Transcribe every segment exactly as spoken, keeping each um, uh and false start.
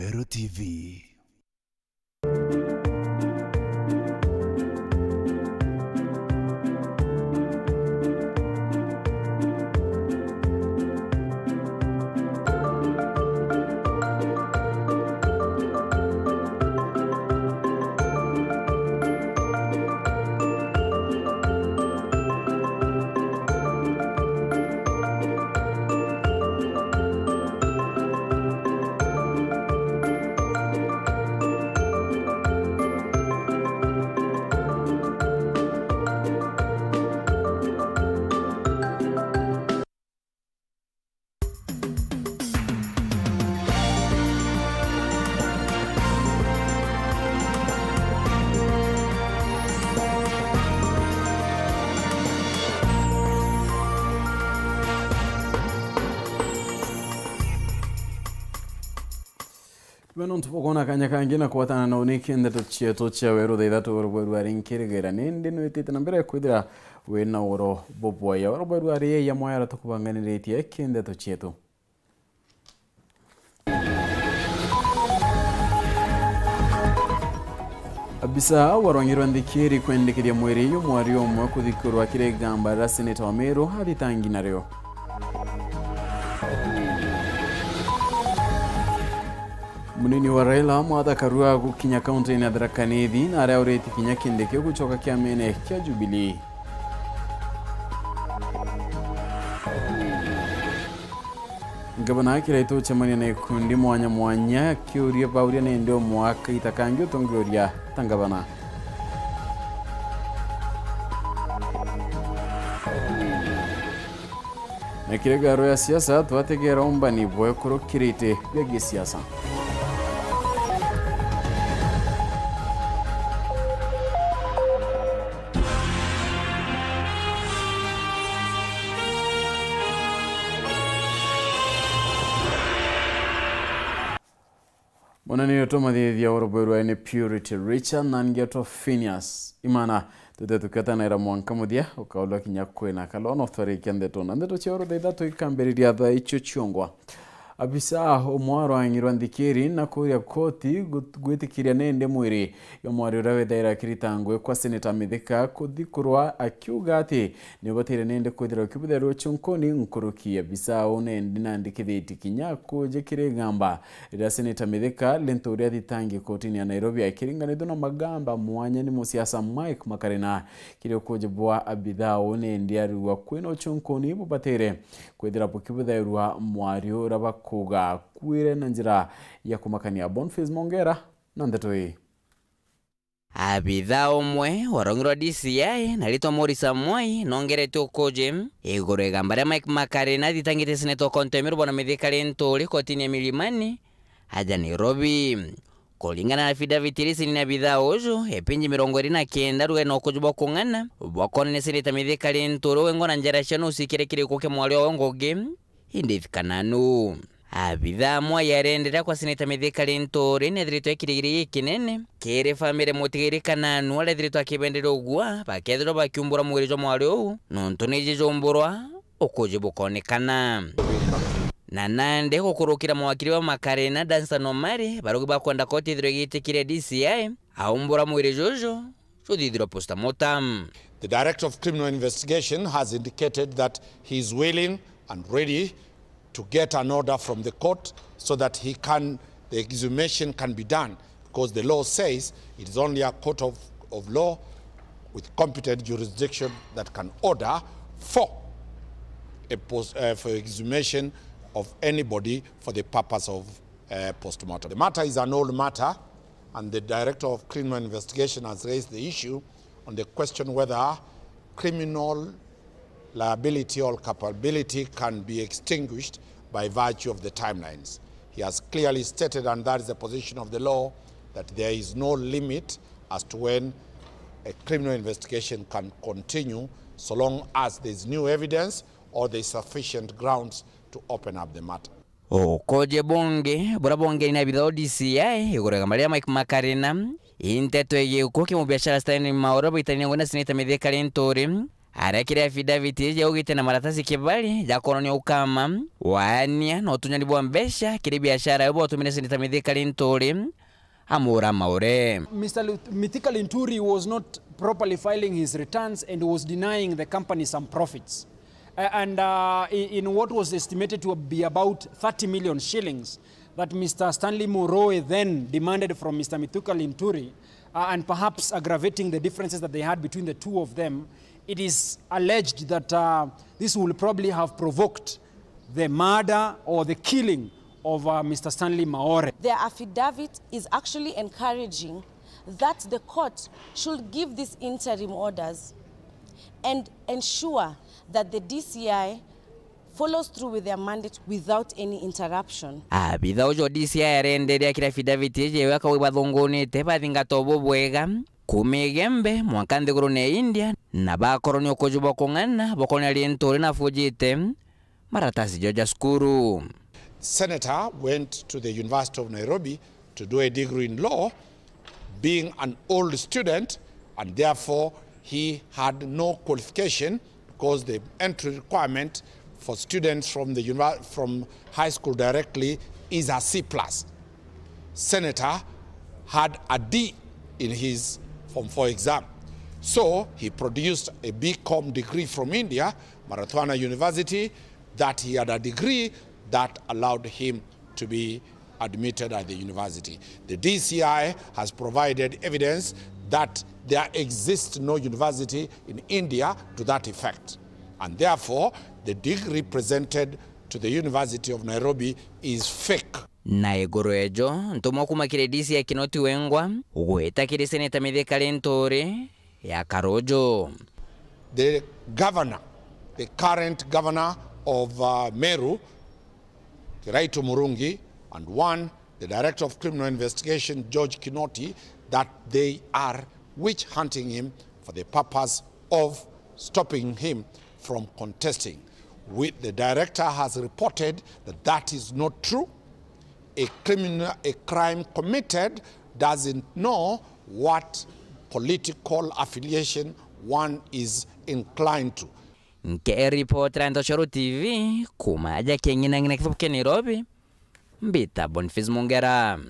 Meru T V. Beno ntubukwona kanya kangi na kwatana na uniki ndeto cietu cia weru thaa ithatu oro bweru ari nkirigera. Nindi nwitite na mbere kwithira wina oro bubwaya. Oro bweru ari ya mwaya ara tukubanganiritie ki ndeto cietu. Abisa warwangirwa nthikiri kwendekeria mwiri yo mwari umwe kuthikurwa kiri igamba riria seneta wa Meru athitangi nario. Munini wa Raila, Martha Karua, gukinya kaunti-ini ya Tharaka Nithi, na aria uriti kinya kindi kiu gucoka kiamene kia Jubilee. Ngavana Kiraitu ucemania na ikundi mwanya mwanya, akiuria bauria nindi umwe akaita kangi utungiuria ta ngavana. Na kiri garo ya siasa, twategera umbani bwekurukirite bia gisiasa. Munene utumathithia urubwirwa ni Purity Richard na ngeto Phineas. Imana, tute tuketanira mwanka muthia, ukaulwa kinya kwina kalono twarikia ndeto. Na ndeto cia oro thaa ithatu ikambiriria thaa icio ciongwa. Abisa umwe arwang'irwa nthikiri na kuria koti gut-, gwitikiria nindi mwiri yo mwari uria withaira akirita ngui kwa Seneta Mithika kuthikurwa, akiuga ati niubatire nindi kwithirwa ukibutherua chunkuni nkuruki. Abisa uu nindi nandikithitie kinya kuja kiri igamba riria Seneta Mithika, Linturi athitangi kotini ya Nairobi akiringanithua na magamba mwanya ni musiasa Mike Makarina. Kiri ukuji bwa abithaa uu nindi ariua kwina uchunkuni bubatire kwithira bukibuthairwa mwari uria bakuga akuire na njira ya kumakania. Boniface Mongera na ndeto ii. Abithaa umwe warongirwa D C I na ritwa Morris Amwai nongerete ukuji iguru igamba ria Mike Makarina athitangite seneta wa kaunti ya Meru Bwana Mithika Linturi kotini ya Milimani aja Nairobi. Kuringana na affidavit iria icini na abithaa uju, epinji mirongo iri na kenda ruga na ukuji bwa kung'ana bwakonania seneta Mithika Linturi wengwa na njara cia nusu ikiri kiriko kia mwari owe ngugi, Edith Kananu. Abithaa amwe yarendera kwa seneta Mithika Linturi nethiritwe ekirigiri gikinene kiri famiri mutigiri Kananu aria ethiritwe akibenderia ugua bakethirwa bakiumbura mwiri jwa mwari uu nontu niji jumburwa ukuji bukonekana. Na nandi gukurukira mawakiri ba Makarina, Danstan Omari, barugi bakwenda koti ithirwe igitikiria D C I aumbura mwiri juju juthithirwa postmortem. The Director of Criminal Investigation has indicated that he is willing and ready to get an order from the court so that he can, the exhumation can be done, because the law says it is only a court of, of law with competent jurisdiction that can order for a post, uh, for exhumation of anybody for the purpose of, uh, postmortem. The matter is an old matter, and the Director of Criminal Investigation has raised the issue on the question whether criminal liability or culpability can be extinguished by virtue of the timelines. He has clearly stated, and that is the position of the law, that there is no limit as to when a criminal investigation can continue, so long as there is new evidence or there is sufficient grounds to open up the matter. Ukoje bungi buria bongeri na abithaa o D C I iguru ya igamba riria Mike Makarina, i nteto igie gikuo kia mubiashara Stanley Maoro baitania ngugi na seneta Mithika Linturi, Aria kiri affidavit iji augite na maratasi kibali ja kwonania ukama, waania na utunyani bwa mbeca kiri biashara iu bwatumire Seneta Mithika Linturi amura Maore. Mister Lu-, Mithika Linturi was not properly filing his returns and was denying the company some profits. Uh, and, uh, i-, in what was estimated to be about thirty million shillings that Mister Stanley Moroe then demanded from Mister Mithika Linturi, uh, and perhaps aggravating the differences that they had between the two of them, it is alleged that, uh, this will probably have provoked the murder or the killing of, uh, Mister Stanley Maore. Their affidavit is actually encouraging that the court should give these interim orders and ensure that the D C I follows through with their mandate without any interruption. Abitha uju wa D C I arenderia kiri affidavit iji iwe akauga ibathungunite bathingata ubu bwega, kuuma Igembe mwanka nthigurune ya India, na bakorwo ni ukuju bwa kung'ana, bakorwo ni Linturi na afujite maratasi jo ja cukuru. Senator went to the University of Nairobi to do a degree in law, being an old student, and therefore he had no qualification because the entry requirement for students from the univer-, from high school directly is a C plus. Senator had a D in his Form four exam. So he produced a B Com degree from India, Marathwada University, that he had a degree that allowed him to be admitted at the university. The D C I has provided evidence that there exists no university in India to that effect, and therefore the degree presented to the University of Nairobi is fake. Na iguru ejo, ntumwa kuuma kiri D C I Kinoti Wengwa gwita kiri Seneta Mithika Linturi ya Karuju. The governor, the current governor of, uh, Meru, Kiraitu Murungi, and one, the director of criminal investigation, George Kinoti, that they are witch hunting him for the purpose of stopping him from contesting. We, the director has reported that that is not true. A criminal, a crime committed doesn't know what political affiliation one is inclined to. Nkiripotera Ntoshoro T V kuuma aja King'inang'ina kithubu kia Nairobi, mbita Boniface Mungera.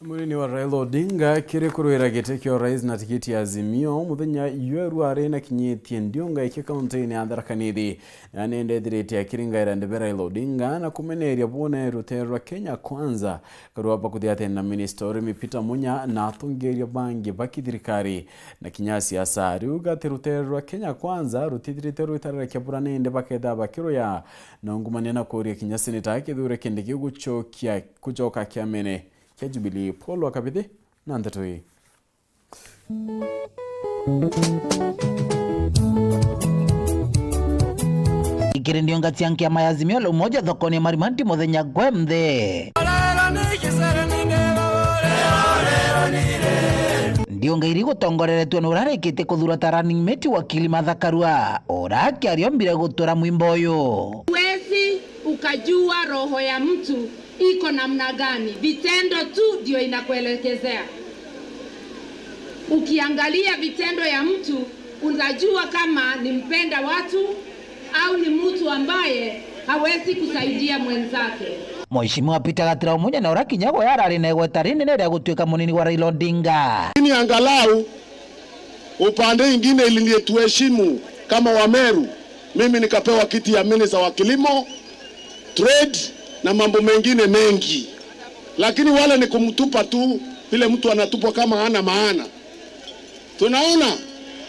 Munini wa Raila Odinga kiri kurwira giti kia urais na tikiti ya Azimio, muthenya jweru ari na kinyitie ndiunga iki kaunti-ini ya Tharaka Nithi. Nani ndethirite akiringaira ndebe Raila Odinga na kumeneria bwone rutere rwa Kenya Kwanza karua bakuthiatene na minista urimi Peter Munya na atongeria bangi ba kithirikari na kinya siasa. Riuga ati rutere rwa Kenya Kwanza rutithirite rwitarira kia bura nindi baketha bakiruya na ungumania na kuria kinya seneta Kithure Kindiki gucokia, gucoka kiamene kia Jubilee. Paul wa Kabithi na ndeto ii. Ikiri ndiunga cia nkiama ya Azimio la Umoja thokoni ya Marimanti muthenya gwe nthe. Ndiunga iri gutongoreretue ni urarikitie kuthura ta running mate wakili Martha Karua, ura akiaria ombire gutura mwimbo uyu. Huwezi ukajua roho ya mtu iko namna gani, vitendo tu ndio inakuelekezea. Ukiangalia vitendo ya mtu, unajua kama ni mpenda watu au ni mtu ambaye hawezi kusaidia mwenzake. Mheshimiwa Peter Gatira Omunya na ura kinya gwe arari na igweta rinene ria gutuika munini wa Raila Odinga. Lakini angalau upande ingine ili nilituheshimu kama Wameru, mimi nikapewa kiti ya minister wa kilimo, trade na mambo mengine mengi, lakini wale ni kumtupa tu vile mtu anatupwa kama hana maana. Tunaona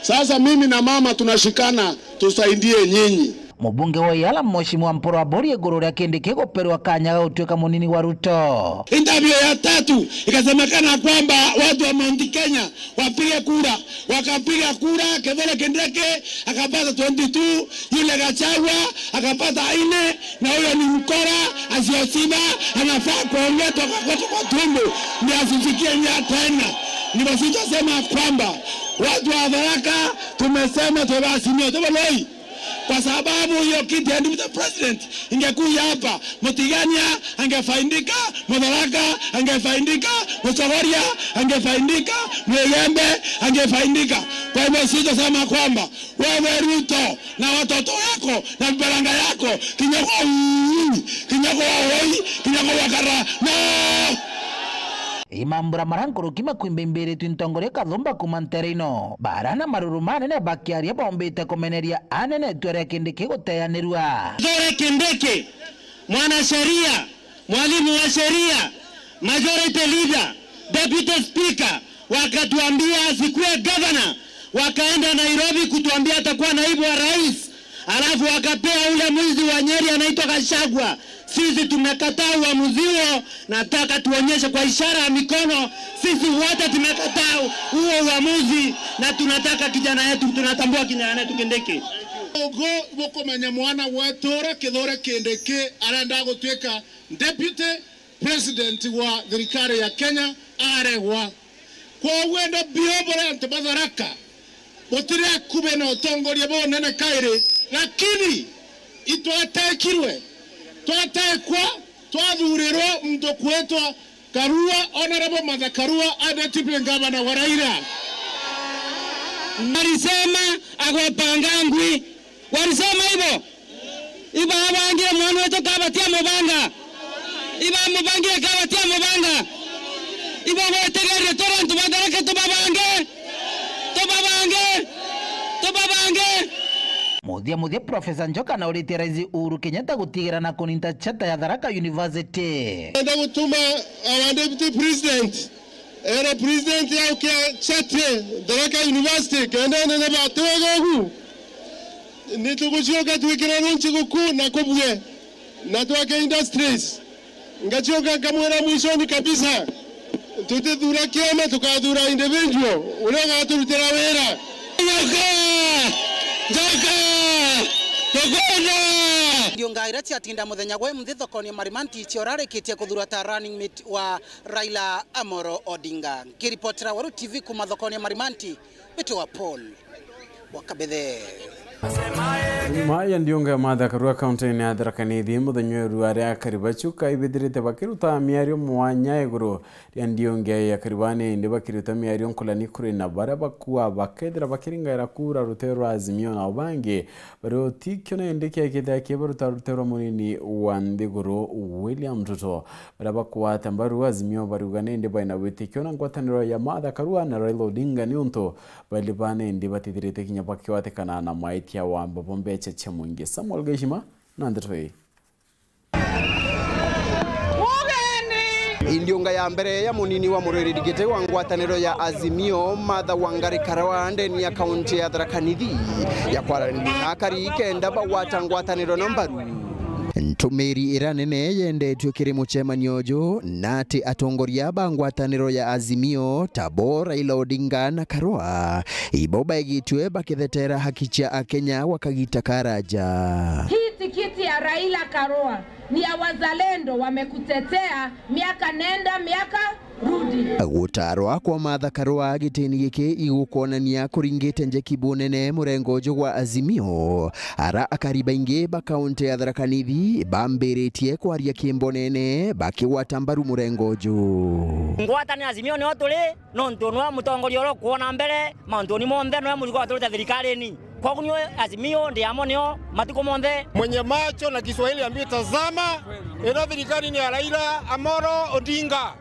sasa, mimi na mama tunashikana tusaidie nyinyi. Mubunge wa Iala Mheshimiwa Mpuru Aburi iguru ria Kindiki guperwa kanya ga gutuika munini wa Ruto. Interview ya tatu ikasemekana kwamba watu wa Mount Kenya wapige kura. Wakapiga kura, Kithure Kindiki akapata twenty two, yule Gachagua akapata nne, na huyo ni mkora, asioshiba, anafaa kuongetwa kwa, kwa, kwa tumbo, ndio asifikie mia tena. Ndivyo sisi tunasema kwamba watu wa Tharaka tumesema tuwe Azimio, tuwe Loi. Kwa sababu hiyo kiti ya deputy president ingekuja hapa, Mutigania angefaidika, Mutharaka angefaidika, Muchogoria angefaidika, Mwigembe angefaidika. Kwa hivyo sisi tunasema kwamba Wewe Ruto na watoto wako na vifaranga yako, kinya kwa ui, kinya kwa oi, kinya kwa wakara. No! Imambura mara nkuruki makwimbimbiritu ntongoria Kathumba kuuma ntere ino. Bara na maruru manene bakiaria bombite kumeneria anene itua ria Kindiki guteanirua. Kithure Kindiki, mwanasheria, mwalimu wa sheria, majority leader, deputy speaker, wakatuambia asikuwe governor, wakaenda Nairobi kutuambia atakuwa naibu wa rais, alafu wakapea ule mwizi wa Nyeri anaitwa Gachagua. Sisi tumekataa uamuzi huo, nataka tuonyeshe kwa ishara ya mikono, sisi wote tumekataa huo uamuzi, na tunataka kijana yetu, tunatambua kijana yetu Kindiki. Ugu bukumenya mwana wetu uria Kithure Kindiki arenda gutuika deputy president wa thirikari ya Kenya aregwa. Kwoguo ndo bio buria antu ba Tharaka butiri akubi na utongoria bunene kairi, lakini itwatekirwe, twatekwa, twathurirwa muntu kwitwa Karua, Honorable Martha Karua, a deputy governor wa Raila. Alisema agopanga ngwi. Walisema hivyo? Iba abangire mwana wetu kabatia mubanga. Iba mubangire kabatia mubanga. Iba gwetegeria tore antu batharake tubabange. Tubabange. Tubabange. Muthia muthia, Professor Njoka nauritie Rais Uhuru Kenyatta gutigira na kuninta chata ya Tharaka University. Enda gutuma our deputy president era president yaukia chate Tharaka University kenda nene batwega ugu. Nitugucoka twikire runchi guku na kubue na twake industries. Ngacoka nkamwira mwishoni kabisa, tutithura kiama, tukathura individual uria ugaturutira wira. Njoka! Njoka! Tukwenda! Ndiunga iria ciatinda muthenya gwe mthi thokoni ya Marimanti ciorarikitie kuthura ta running mate wa Raila Amolo Odinga. Nkiripotera Weru T V kuuma thokoni ya Marimanti, mbitwa Paul wa Kabethe. Maya ndiunga ya Martha Karua kaunti-ini ya Tharaka Nithi muthenya wa iru aria akari bacu kaibithirite bakiruta miario mwanya iguru ria ndiunga ya Karua, ni indi bakiruta miario nkulani kuri na baria bakua bakethira bakiringaira kura rutero rwa Azimio, nao bangi bari utikio na indi kiakithira kibaruta rutero rwa munini wa nthiguru William Ruto. Baria bakwata mbaru Azimio bariuga ni indi baina witikio na ngwataniro ya Martha Karua na Raila Odinga niuntu bairi bana indi batithirite kinya bakigwatikana na maitia wa mbobo mbecha cia mwingi. Samuel Gaishima na ndeto ii. Ndiunga ya mbere ya munini wa murwiriri giti wa ngwataniro ya Azimio, Martha Wangari Karua, ndeni ya kaunti ya Tharaka Nithi, ya kwaraniria na akari kenda bagwata ngwataniro na mbaru. Ntumiri iria nene yendetue kiri mucemanio uju na ati atongoria ba ngwataniro ya Azimio, tabo Raila Odinga na Karua, ibo baigitue bakithetera haki cia Akenya gwa kagita karaja. Hii tikiti ya Raila Karua ni ya wazalendo, wamekutetea miaka nenda, miaka rudi. Gutarwa kwa Martha Karua gitini giki igukwonania kuringite njeki bunene murengo uju gwa Azimio, ara akari baingi ba kaunti ya Tharaka Nithi bambiritie kwaria kimbonene bakigwata mbaru murengo uju. Ngwataniro ya Azimio nio turi, nontu nwe mutongoria uria ukwona mbere mauntu ni monthe, nwe muzigo waturite thirikarine. Kwogu niwe Azimio ndi amo nio matuku monthe. Mwenye macho na Kiswahili ambiwe tazama, ino thirikari ni ya Raila Amolo Odinga.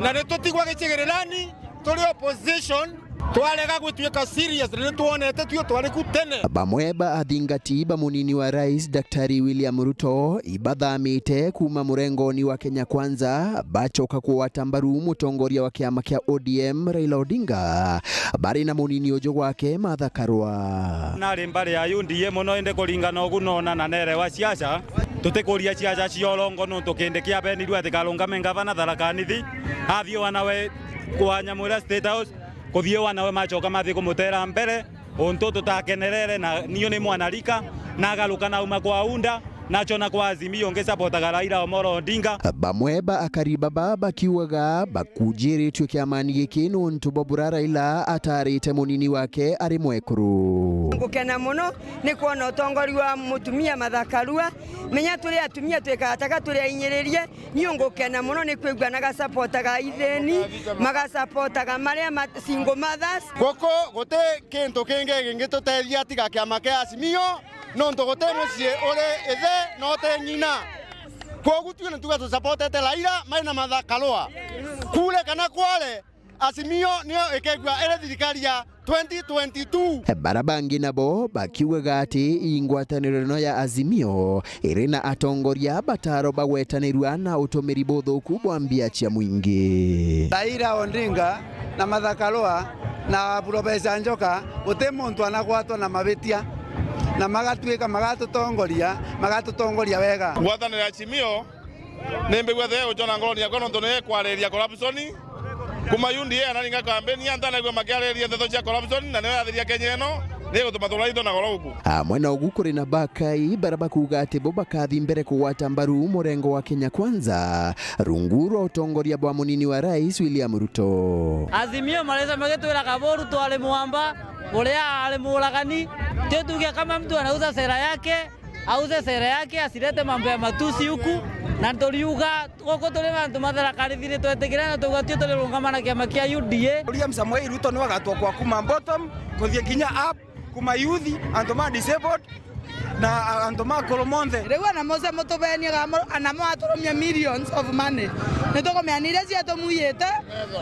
Na ni tutigwa gicigirirani, turi opposition, twarega gwituika serious, ni twonete tuo twari ku tene. Bamwe ba athingati ba munini wa rais Daktari William Ruto ibathamite kuuma murengoni wa Kenya Kwanza, bacoka kugwata mbaru mutongoria wa kiama kia O D M Raila Odinga, bari na munini uju gwake Martha Karua. Nari mbari ya U D A mono, indi kuringana ugu nona na nerewa siasa, tutikuria siasa cia urongo, nontu kindi kiabenirue ati karungame ngavana Tharaka Nithi, athiwa nawe kwa nyamu iria State House, kuthiwa nawe macoka mathi kumutera mbere, untu tutakenerere, na niu ni mwana rika, nagaruka nauma kwa UDA, nachona kwa Azimio ngisapotaga Raila Omolo Odinga. Bamwe ba akari baba bakiugaga bakujiritue kiamani giki nontu bwa bura Raila atarite munini wake ari mwekuru. Ngukena muno ni kwona utongori wa mutumia Martha Karua. Menya turi atumia twikaga taka turi ainyiririe, ni ungukena muno ni kwigua na gasapotaga ithini, magasapotaga maria ma-, single mothers. Guku guti kintu kingi gingitutethia tiga kiama kia Azimio, nontu guti mucii uri ithe na uti ng'ina. Kwogu tui ni tuga tusapotete Raila mai na Martha Karua. Kure kana kware, Azimio niyo ikegua iri thirikari ya twenty twenty-two. Bara bangi nabo bakiugaga ati ingwataniro ino ya Azimio iri na atongoria bataro bagwetanirua na utumiri buthuku bwa mbia cia mwingi. Raila Odinga na Martha Karua na Professor Njoka, guti muntu anagwatwa na mabitia, na magatuika magatutongoria, magatutongoria wega. Ngwataniro ya Azimio Ni mbigua the gucona ngoroni yakwa nontu ni kwariria corruption. Kuma U D A anaringa kampeni, antanaigua makiariria nteto cia corruption, na niyo yathiria Kenya ino, ni gutuma tuura into na goro guku. Amwe na ugu kuri na bakai bara bakuuga ati bo bakathi mbere kugwata mbaru murengo wa Kenya Kwanza, rungu rwa utongoria bwa munini wa rais William Ruto. Azimio marisa magitwira Kaburu twari mwamba, uria ari muragani. Tio tuge kama mtu anauza sera yake, auze sera yake, asilete mambo ya matusi huku, na turiuga guku turi na antu matharakarithiri twetikire na tugatio turirungama na kiama kia U D A. William Samoei Ruto niwe agatwakwa kuma bottom kuthie kinya up, kuma youth, antu ma disabled, na antu ma akuru monthe. Riu ana Musa mutubenie ga mu-, ana mwaturumia millions of money. Nitukumenya iria ciatumuyite,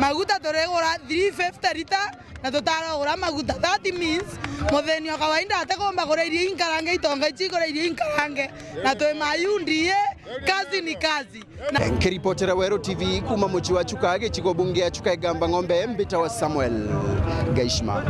maguta turigura three fifty lita, na tutarogura maguta. That means, mutheni o kawaida atikumba kuria irio inkarange, itonga ici ikuria irio inkarange, na twi ma U D A, kazi ni kazi. Na nkiripotera Weru T V kuma mucii wa Chuka, gicigo bunge ya Chuka Igamba Ng'ombe, mbitawa Samuel Gaishma.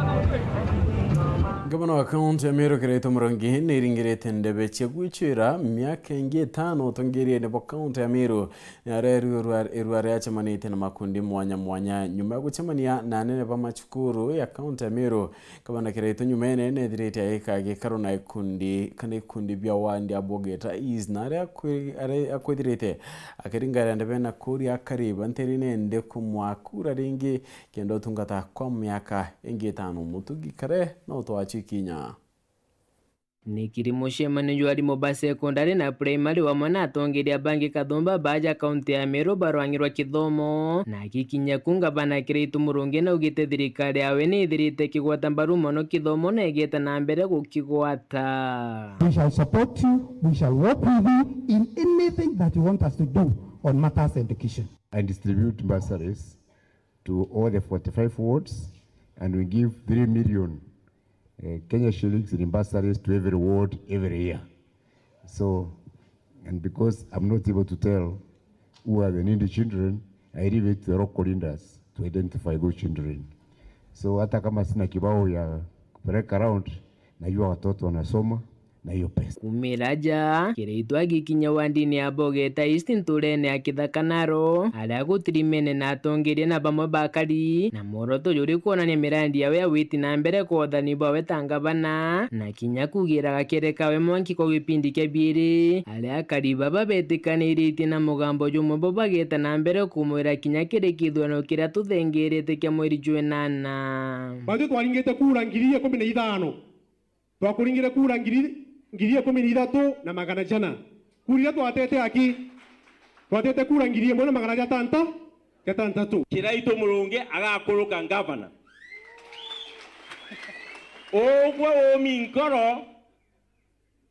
Ngavana wa kaunti ya Meru Kiraitu Murungi niringirite ndebe cia gwicwira miaka ingi itano utongeriene bwa kaunti ya Meru. Ni aria irua, irua riacemanitie na makundi mwanya mwanya nyuma ya gucemania na anene ba macukuru ya kaunti ya Meru. Gavana Kiraitu nyumene nethirite agika gikaro na ikundi, kana ikundi bia wandi ya Bogeta East, na aria akwi-, aria akwithirite akiringaira ndebe na kuria akari ba nterine ndi kumwa kura ringi kenda utungata kwa miaka ingi itano. Mutugi Kare no twachwi kinya. Nikiri mucemanio jwa arimu ba sekondari na primary wamwe na atongeria bangi kathumba baaja kaunti ya Meru barwang'irwa kithomo, na akikinya ku ngavana Kiraitu Murungi naugite thirikari yawe ni ithirite kigwata mbaru mono kithomo na igete na mbere gukigwata. We shall support you, we shall work with you in anything that you want us to do on matters education. And distribute bursaries to all the forty-five wards, and we give three million, eh, Kenya shillings in bursaries to every ward every year. So, and because I'm not able to tell who are the needy children, I leave it to the local leaders to identify those children. So, hata kama sina kibao ya kupeleka around, najua watoto wanasoma, na hiyo pesa. Kumira ja, Kiraitu agikinya wandini ya Bogeta East nturene ya Kithaka Naro, aria gutirimene na atongeria na bamwe bakari, na mworoto juri kwonania mirandi yawe ya witi na mbere kwa uthani bwawe ta ngavana, na kinya kugira gakere kawe mwanki kwa gipindi kia biiri, aria akari baba betikaniritie na mugambo jumwe bo bageta na mbere kumwira kinya kiri kithurano kiria tuthengerete kia mweri jwa inana. Batwi twaringite kura ngiri ikumi na ithano. Twakuringire kura ngiri, ngiri ikumi na ithatu na magana jana. Kura iria twatete aki? Twatete kura ngiri imwe na magana jatanta-, jatantatu. Kiraitu Murungi agakuruka ngavana. Ugwe umi nkoro,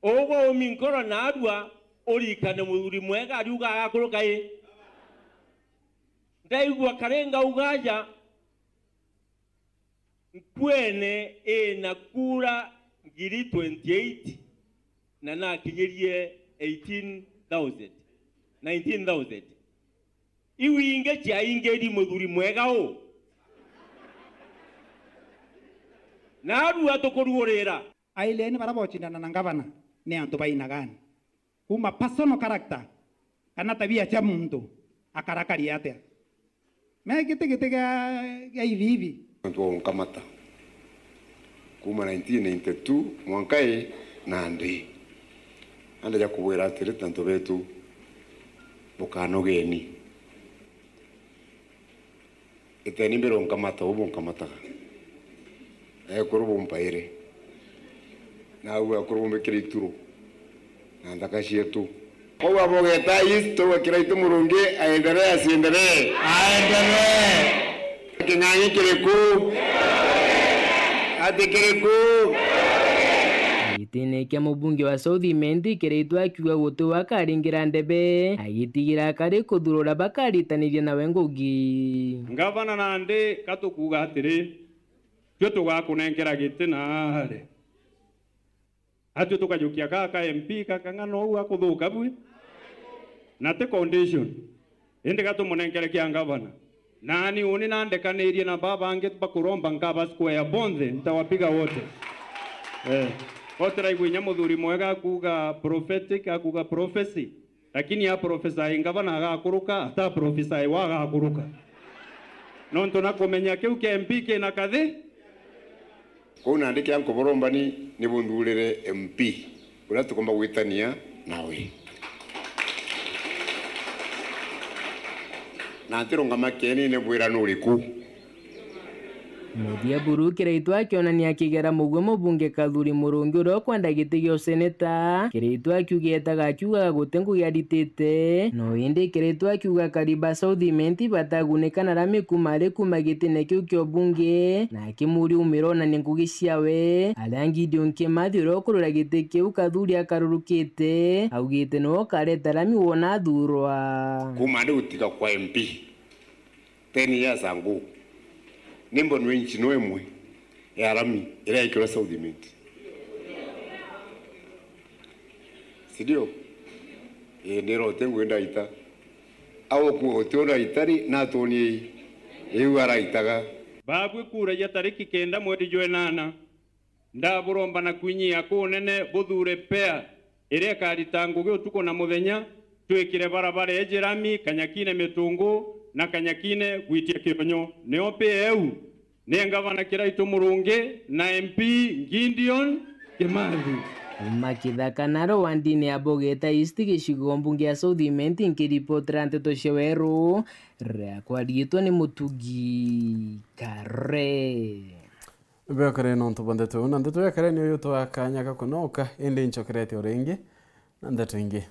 ugwe umi nkoro narua urikane muthuri mwega ariuga agakuruka i. Ndaigua kare ngauga aja, Nkuene ina kura ngiri twenty-eight na nakinyirie eighteen thousand, nineteen thousand. Iu ingi ciaingiri muthuri mwega u? Narua tukuruurira. Aileni bara bocindana na ngavana ni antu baina gani? Kuma personal character kana tabia cia muntu, akarakari atia? Me giti giti gia, gia ivi ivi. Antu ba unkamata kuma nineteen ninety-two mwanka i nandi. Anda ja kubwira atiri, ta antu betu, bukanogeni. Iteni mbere unkamata, u bunkamataga. Ekuru bumpaire. Na au akuru bumbikire ituru na nthaka cietu. Kwou abogeta East, twauga Kiraitu Murungi aendelee, asiendelee? Aendelee. King'ang'i kiriku? Ati kiriku? Gitine kia mubunge wa South Imenti, Kiraitu akiuga guti we akaringira ndebe, agitigira akari kuthura uria bakaritaniria nawe ngugi. Ngavana nandi katukuuga atiri, twe tugakunenkera giti naari. Atue tukajukia ka ka M P kakang'ana uu akuthuka bwi? Na ti condition. Indi gatumunenkere kia ngavana. Nani uni nandekanirie na baba bangi bakuromba nkaba square bonthe, ntawapiga wote. Eh. Otiraigua inya muthuri mwega akuuga prophetic, akuuga prophecy. Lakini a prophesy ngavana agakuruka, ata prophesy wa agakuruka. Nontu na kumenya kiu kia M P kina kathi. Kwou nandi kiria nkuburombani ni bunthurire M P uria tukomba gwitania nawe. Na ntirungama kienine bwira nuriku. Muthia buru Kiraitu akionania akigera mugwe mubunge Kathuri Murungi uria ukwenda giti gia useneta. Kiraitu akiuga etaga akiugaga guti ngugi aritite. No indi Kiraitu akiuga akari ba South Imenti batagunika na rami kuma ari kuma gitine kiu kia ubunge, na akimuria umira onanie ngugi ciawe. Aria Gideon Kimathi uria ukurira giti kiu Kathuri akarurukite, augite niwe ukareta rami wona athurwa. Kuma ndi gutiga kwa M P. Ten years ago, ni mbonwe inch no imwe ya rami iria yaikirwe South Imenti. Si ndio? Ii, ndira uti ngui ndaita. Au ku uti uraita ri, natuonie ii. Iu araitaga. Babwi kura ya tariki kenda mweri jwa inana. Ndaburomba na kwinyia kunene buthure pair iria ikarita ngugi utuku na muthenya, twikire barabara iji rami, Kanyakine Mitungu na Kanyakine gwitia Kionyo. Nio pair iu ni ngavana Kiraitu Murungi na M P Gideon Kimathi. Kuma Kithaka naro wandini ya Bogeta East, gicigo mbunge ya South Imenti, nkiripotera nteto cia weru, riakwa riitwa ni Mutugi Kare. Bekare nontu bwa ndeto iu, na ndeto ya kare niyo yutwaa kanya ga kunoka, indi ncokerete o ringi na ndeto ingi.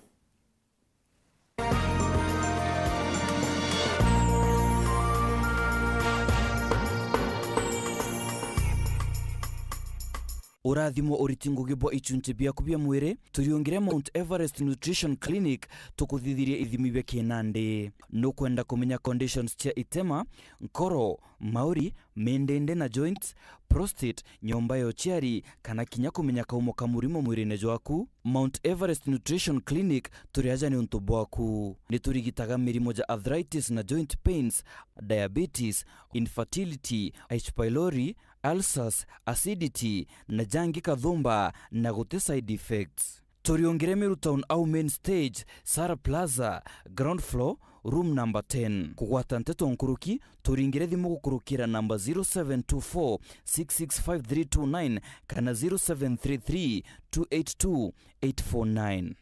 Urathimo uriti ngugi bwa ichunchi biaku bia mwiri, turiungire Mount Everest Nutrition Clinic tukuthithirie ithimi bia kinandi. Nukwenda kumenya conditions cia itema, nkoro, mauri, mindindi na joints, prostate, nyomba ya uciari, kana kinya kumenya kaumo ka murimo mwirine jwaku? Mount Everest Nutrition Clinic turi aja niuntu bwaku. Ni turigitaga mirimo ja arthritis na joint pains, diabetes, infertility, H. pylori, ulcers, acidity, na jangi kathumba, na guti side effects. Turiungire Meru Town au main stage, Sara Plaza, ground floor, room number ten. Kugwata nteto nkuruki, turingire thimu gukurukira namba zero seven two four six six five three two nine kana zero seven three three two eight two eight four nine.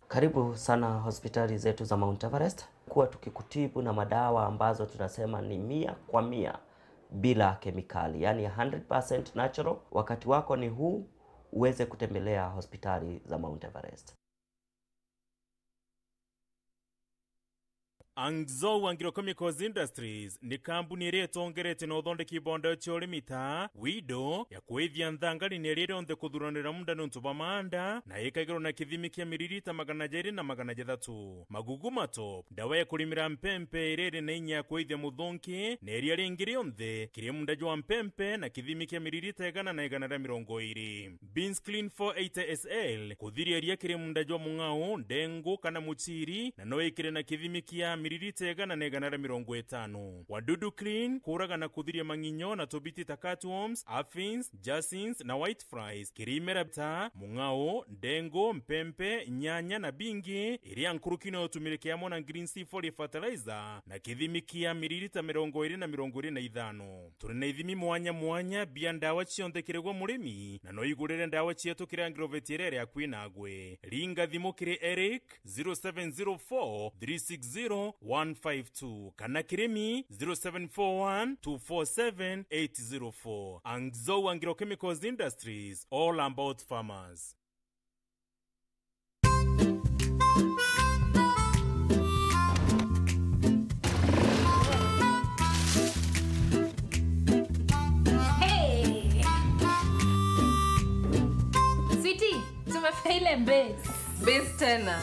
Karibu sana hospitali zetu za Mount Everest. Kuwa tukikutibu na madawa ambazo tunasema ni mia kwa mia bila kemikali, yani hundred percent natural. Wakati wako ni huu, uweze kutembelea hospitali za Mount Everest. Angzou Agrochemicals Industries ni kambuni iria itongeretie na uthondeki bwa ndawa cia urimi ta Wido ya kwithia nthangari na iria rionthe kuthuranira munda niuntu bwa maanda, na ikagirwa na kithimi kia miririta magana jairi na magana jathatu. Magugu Matop, ndawa ya kurimira mpempe iria iri na inya ya kwithia muthonki na iria ringi rionthe kiri munda jwa mpempe na kithimi kia miririta igana na igana ria mirongo iiri. Beans Clean four eighty S L, kuthiria ria kiri munda jwa mung'ao, ndengu kana muchiri, na no ikire na kithimi kia miririta igana na igana ria mirongo itano. Wadudu Clean, kuraga na kuthiria mang'inyo na tubiti ta cutworms, aphids, jacinths na white flies, kiri imera ta mung'ao, ndengu, mpempe, nyanya na bingi, iria nkuruki no utumire kiamwe na Green C forty fertilizer, na kithimi kia miririta mirongo iiri na mirongo iiri na ithano. Turi na ithimi mwanya mwanya bia ndawa cionthe kiri gwe murimi, na no igurire ndawa cietu kiri agrovet iria iri akui nagwe. Ringa thimu kiri Eric, zero seven zero four three six zero one five two, kana Kirimi zero seven four one two four seven eight zero four. Angzou Anglo Chemicals Industries, all about farmers. Hey! Sweetie, tumefika ile base. Base tena.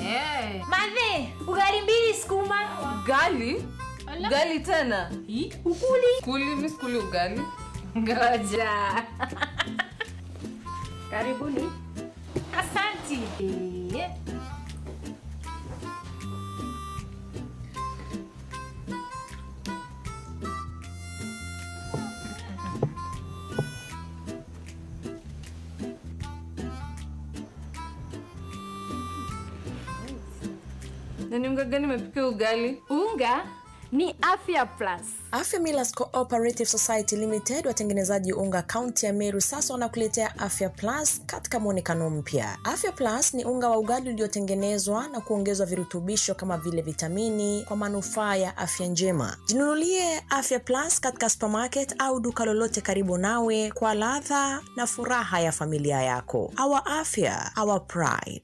Eh. Mathe, ugali mbili sukuma. Ugali? Ala. Ugali tena? Hi? Ukuli? Kuli, mi sikuli ugali. Ngoja. Karibuni. Asanti. Na ni unga gani imepika ugali? Unga ni Afya Plus. Afya Millers Cooperative Society Limited, watengenezaji unga kaunti ya Meru, sasa wanakuletea Afya Plus katika mwonekano mpya. Afya Plus ni unga wa ugali uliotengenezwa na kuongezwa virutubisho kama vile vitamini kwa manufaa ya afya njema. Jinunulie Afya Plus katika supermarket au duka lolote karibu nawe kwa ladha na furaha ya familia yako. Our afya, our pride.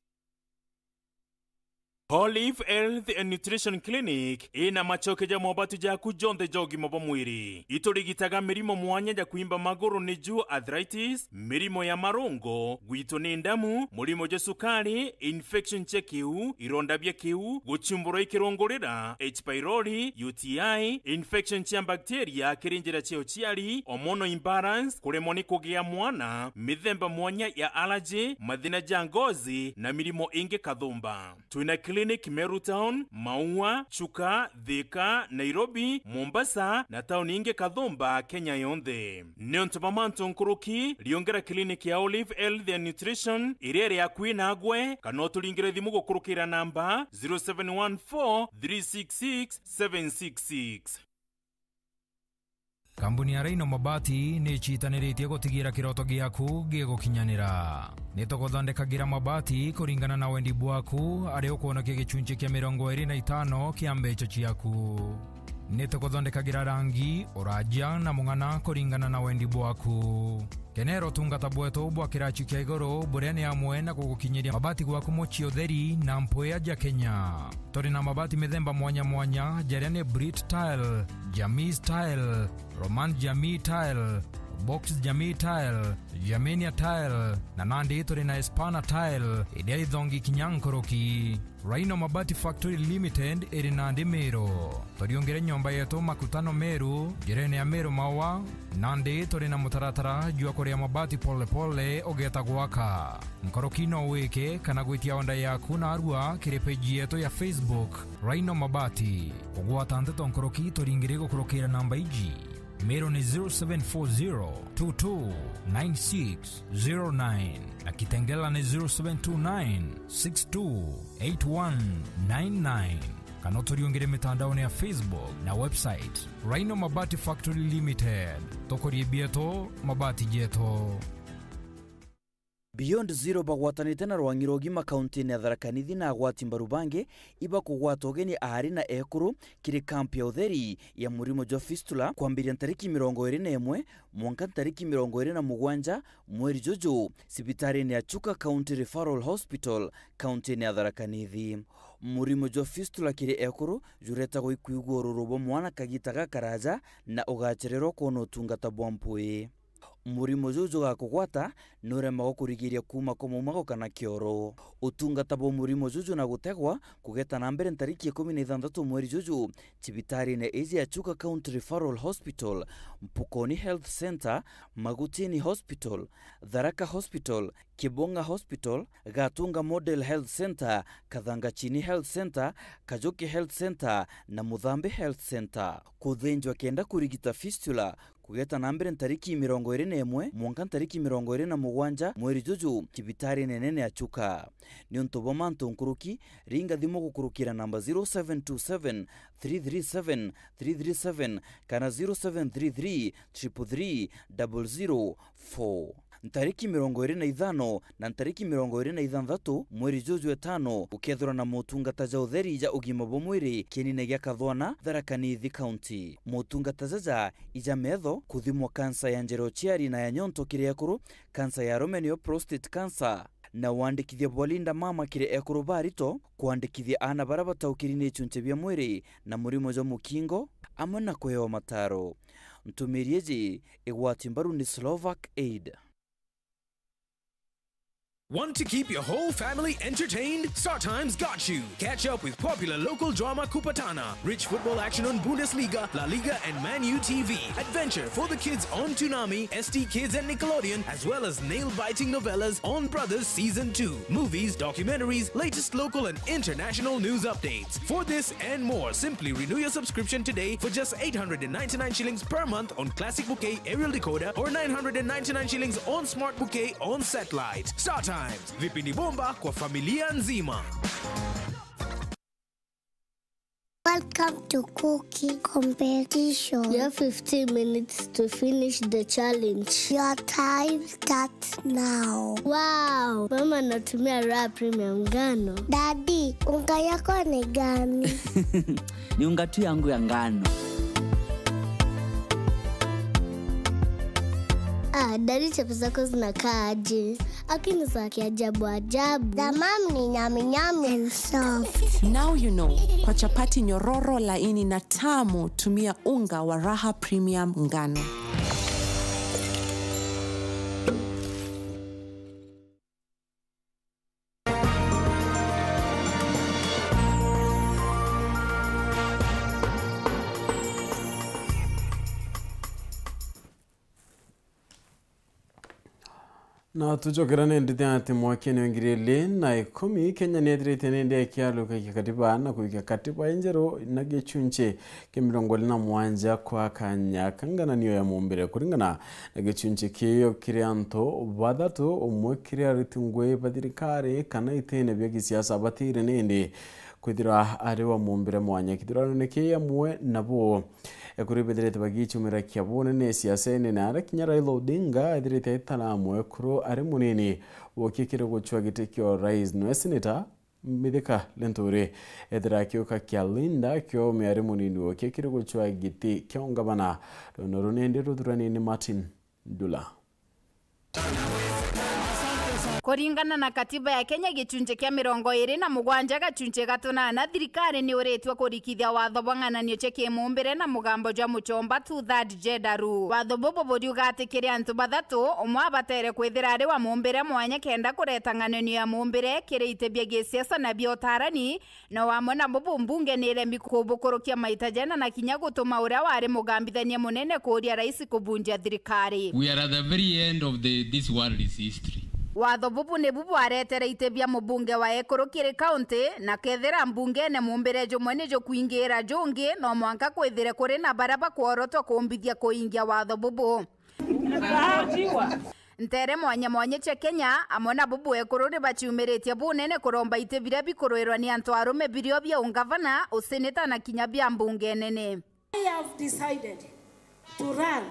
Olive Health and Nutrition Clinic ina macoke ja mobatu jaku jonthe ja ugima bwa mwiri. Iturigitaga mirimo mwanya ja kwimba maguru, niju arthritis, mirimo ya marungo, gwitwo ni ndamu, murimo jwa cukari, infection cia kiu, ironda bia kiu, guchumburwa i kirungurira, H pylori, U T I, infection cia bacteria kiri njira cia uciari, hormonal imbalance, kuremwa ni kugia mwana, mithemba mwanya ya allergy, mathina ja ngozi na mirimo ingi kathumba. Twina clinic Meru Town, Maua, Chuka, Thika, Nairobi, Mombasa na tauni ingi kathumba Kenya yonthe. Niuntu bwa mantu nkuruki, riungera clinic ya Olive Health and Nutrition iria iri akui nagwe, kana uturingire thimu gukurukira namba zero seven one four three six six seven six six. Kambuni ya Rhino Mabati ni icitaniritie gutigira kiroto giaku gigukinyanira. Ni tuguthondekagira mabati kuringana na wendi bwaku, aria ukwonokia gicunci kia mirongo iri na itano kia mbeca ciaku. Ni tuguthondekagira rangi, uraja na mung'ana kuringana na wendi bwaku. Kenera utungata bwetu bwa kiraci kia iguru, buria ni amwe na gugukinyiria mabati gwaku mucii utheri na mpwia ja Kenya. Turi na mabati mithemba mwanya mwanya, jaria ni Brit Tile, Jamii Tile, Roman Jamii Tile, Box Jamii Tile, Germania Tile, na nandi turi na Espana Tile, iria ithongi kinya nkuruki. Rhino Mabati Factory Limited iri nandi Meru. Turiungire nyomba yetu Makutano Meru, njirene ya Meru Maua, nandi turi na mutaratara jwa kuria mabati pole pole ugeta gwaka. Nkuruki no wike kana gwitia onda yaku narua kiri page yetu ya Facebook, Rhino Mabati. Kugwata nteto nkuruki turingire gukurukira namba iji. Meru ni zero seven four zero two two nine six zero nine na Kitengela ni zero seven two nine six two eight one nine nine. Kana uturiungire mitandaone ya Facebook na website, Rhino Mabati Factory Limited. Tukurie bieto, mabati jeto. Beyond Zero bagwatanite na rwang'i rwa ugima kauntiine ya Tharaka Nithi na agwati mbaru bangi ibakugwata ugeni aari na ekuru kiri kampu ya utheri ya murimo jwa fistula kwambiria ntariki mirongo iri na imwe mwanka ntariki mirongo iri na mugwanja mweri juju, cibitariine ya Chuka County Referral Hospital, kauntiine ya Tharaka Nithi. Murimo jwa fistula kiri ekuru juretagwa ikwigua ururu bwa mwana kagita gakaraja na ugachererwa kwona utungata bwa mpwii. Murimo juu jugakugwata nuremagwa kurigiria kuuma kwa maumago kana kioro. Utungata bwa murimo juju na gutegwa kugeta na mbere ntariki ikumi na ithanthatu mweri juju, cibitariine iji ya Chuka County Referral Hospital, Mpukoni Health Centre, Magutini Hospital, Tharaka Hospital, Kibonga Hospital, Gatunga Model Health Centre, Kathangachini Health Centre, Kajuki Health Centre na Muthambi Health Centre. Kuthinjwa kenda kurigita fistula kugeta na mbere ntariki mirongo iri na imwe mwanka ntariki mirongo iri na mugwanja mweri juju cibitari nene ya Chuka. Niuntu bwa mantu nkuruki, ringa thimu gukurukira namba zero seven two seven three three seven three three seven kana zero seven three three triple three double zero four. Ntariki mirongo iri na ithano na ntariki mirongo iri na ithanthatu mweri juju etano, gukethirwa na motungata ja utheri ja ugima bwa mwiri kienine gia Kathwana, Tharaka Nithi County. Motungata jaja ija metho, kuthimwa kansa ya njira uciari na ya nyonto kiri ekuru, kansa ya arume niyo prostate cancer, na wandikithia bwa Linda Mama kiri ekuru ba rito, kwandikithia aana baria bataukiri ni ichunche bia mwiri na murimo jwa mukingo, amwe na kuhewa mataro. Ntumiri iji igwati mbaru ni Slovak Aid. Want to keep your whole family entertained? StarTime's got you. Catch up with popular local drama Kupatana, rich football action on Bundesliga, La Liga, and Man U T V. Adventure for the kids on Toonami, S T Kids, and Nickelodeon, as well as nail-biting novellas on Brothers Season two. Movies, documentaries, latest local and international news updates. For this and more, simply renew your subscription today for just eight hundred and ninety-nine shillings per month on Classic Bouquet aerial decoder or nine hundred and ninety-nine shillings on Smart Bouquet on satellite. StarTimes, vipindi bomba kwa familia nzima. Welcome to cooking competition. You have fifteen minutes to finish the challenge. Your time starts now. Wow! Mama anatumia Raha Premium ngano. Daddy, unga yako ni gani? Ni unga tu yangu ya ngano. Ah, Daddy, chapo zako zinakaa aje? Lakini za kiajabu ajabu. The mom ni nyami nyami and soft. Now you know, kwa chapati nyororo, laini na tamu, tumia unga wa Raha Premium ngano. Na tucokera ni ndite ati mwakene wa ngiri ili na ikumi, Kenya ni ethirite ni ndi ikialukagia katiba na kuikia katiba injeru na gichunchi kia mirongo iri na mugwanja kwa kanya ka ngananio ya mumbire. Kuringana na gichunchi kiu kiri antu bathatu, umwe kiri aruti ngui ba thirikari kana itine bia gisiasa batire ni ndi kwithirwa ari wa mumbire mwanya kithurano-ini kii amwe nabo. Ekuru bethirite bagichumira kia bunene siasene, na aria kinya Raila Odinga ethirite aitara mwekuru ari munini wokie kiri gucwa giti kia urais. Nwe seneta Mithika Linturi ethira akiuka kia Linda Kiome ari munini wokie kiri gucwa giti kia ungavana. Runo runindi ruthurani ni Martin Ndula. Kuringana na katiba ya Kenya, gichunchi kia mirongo iri na mugwanja gachunchi ga tunana, thirikari ni uritue kurikithia watho bwa ng'ananio cia kimumbire na mugambo jwa muchomba, two-third gender rule. Watho bubu buriuga ati kiri antu bathatu, umwe abatere kwithira ari wa mumbire mwanya kenda kureta ng'ananio ya mumbire kiri iti bia gisiasa na bia utarani, no amwe na bubu mbunge ni iremi kubukurukia maita jena na kinya gutuma uria wari mugambithania munene kuuria rais kubunjia thirikari. We are at the very end of the, this world's history. Watho bubu nibu bwaretere iti bia mubunge wa ekuru kiri kaunti, na kethira mbungene mumbire jumwe ni jukwingiira jungi, no mwanka kwithire kuri na baria bakworotwa kumbithia kuingia watho bubu. Ntere mwanya mwanya cia Kenya, amwe na bubu ekuru ni baciumiritie bunene kuromba iti biria bikuruirwa ni antu arume birio bia ungavana, useneta na kinya bia mbunge nene. I have decided to run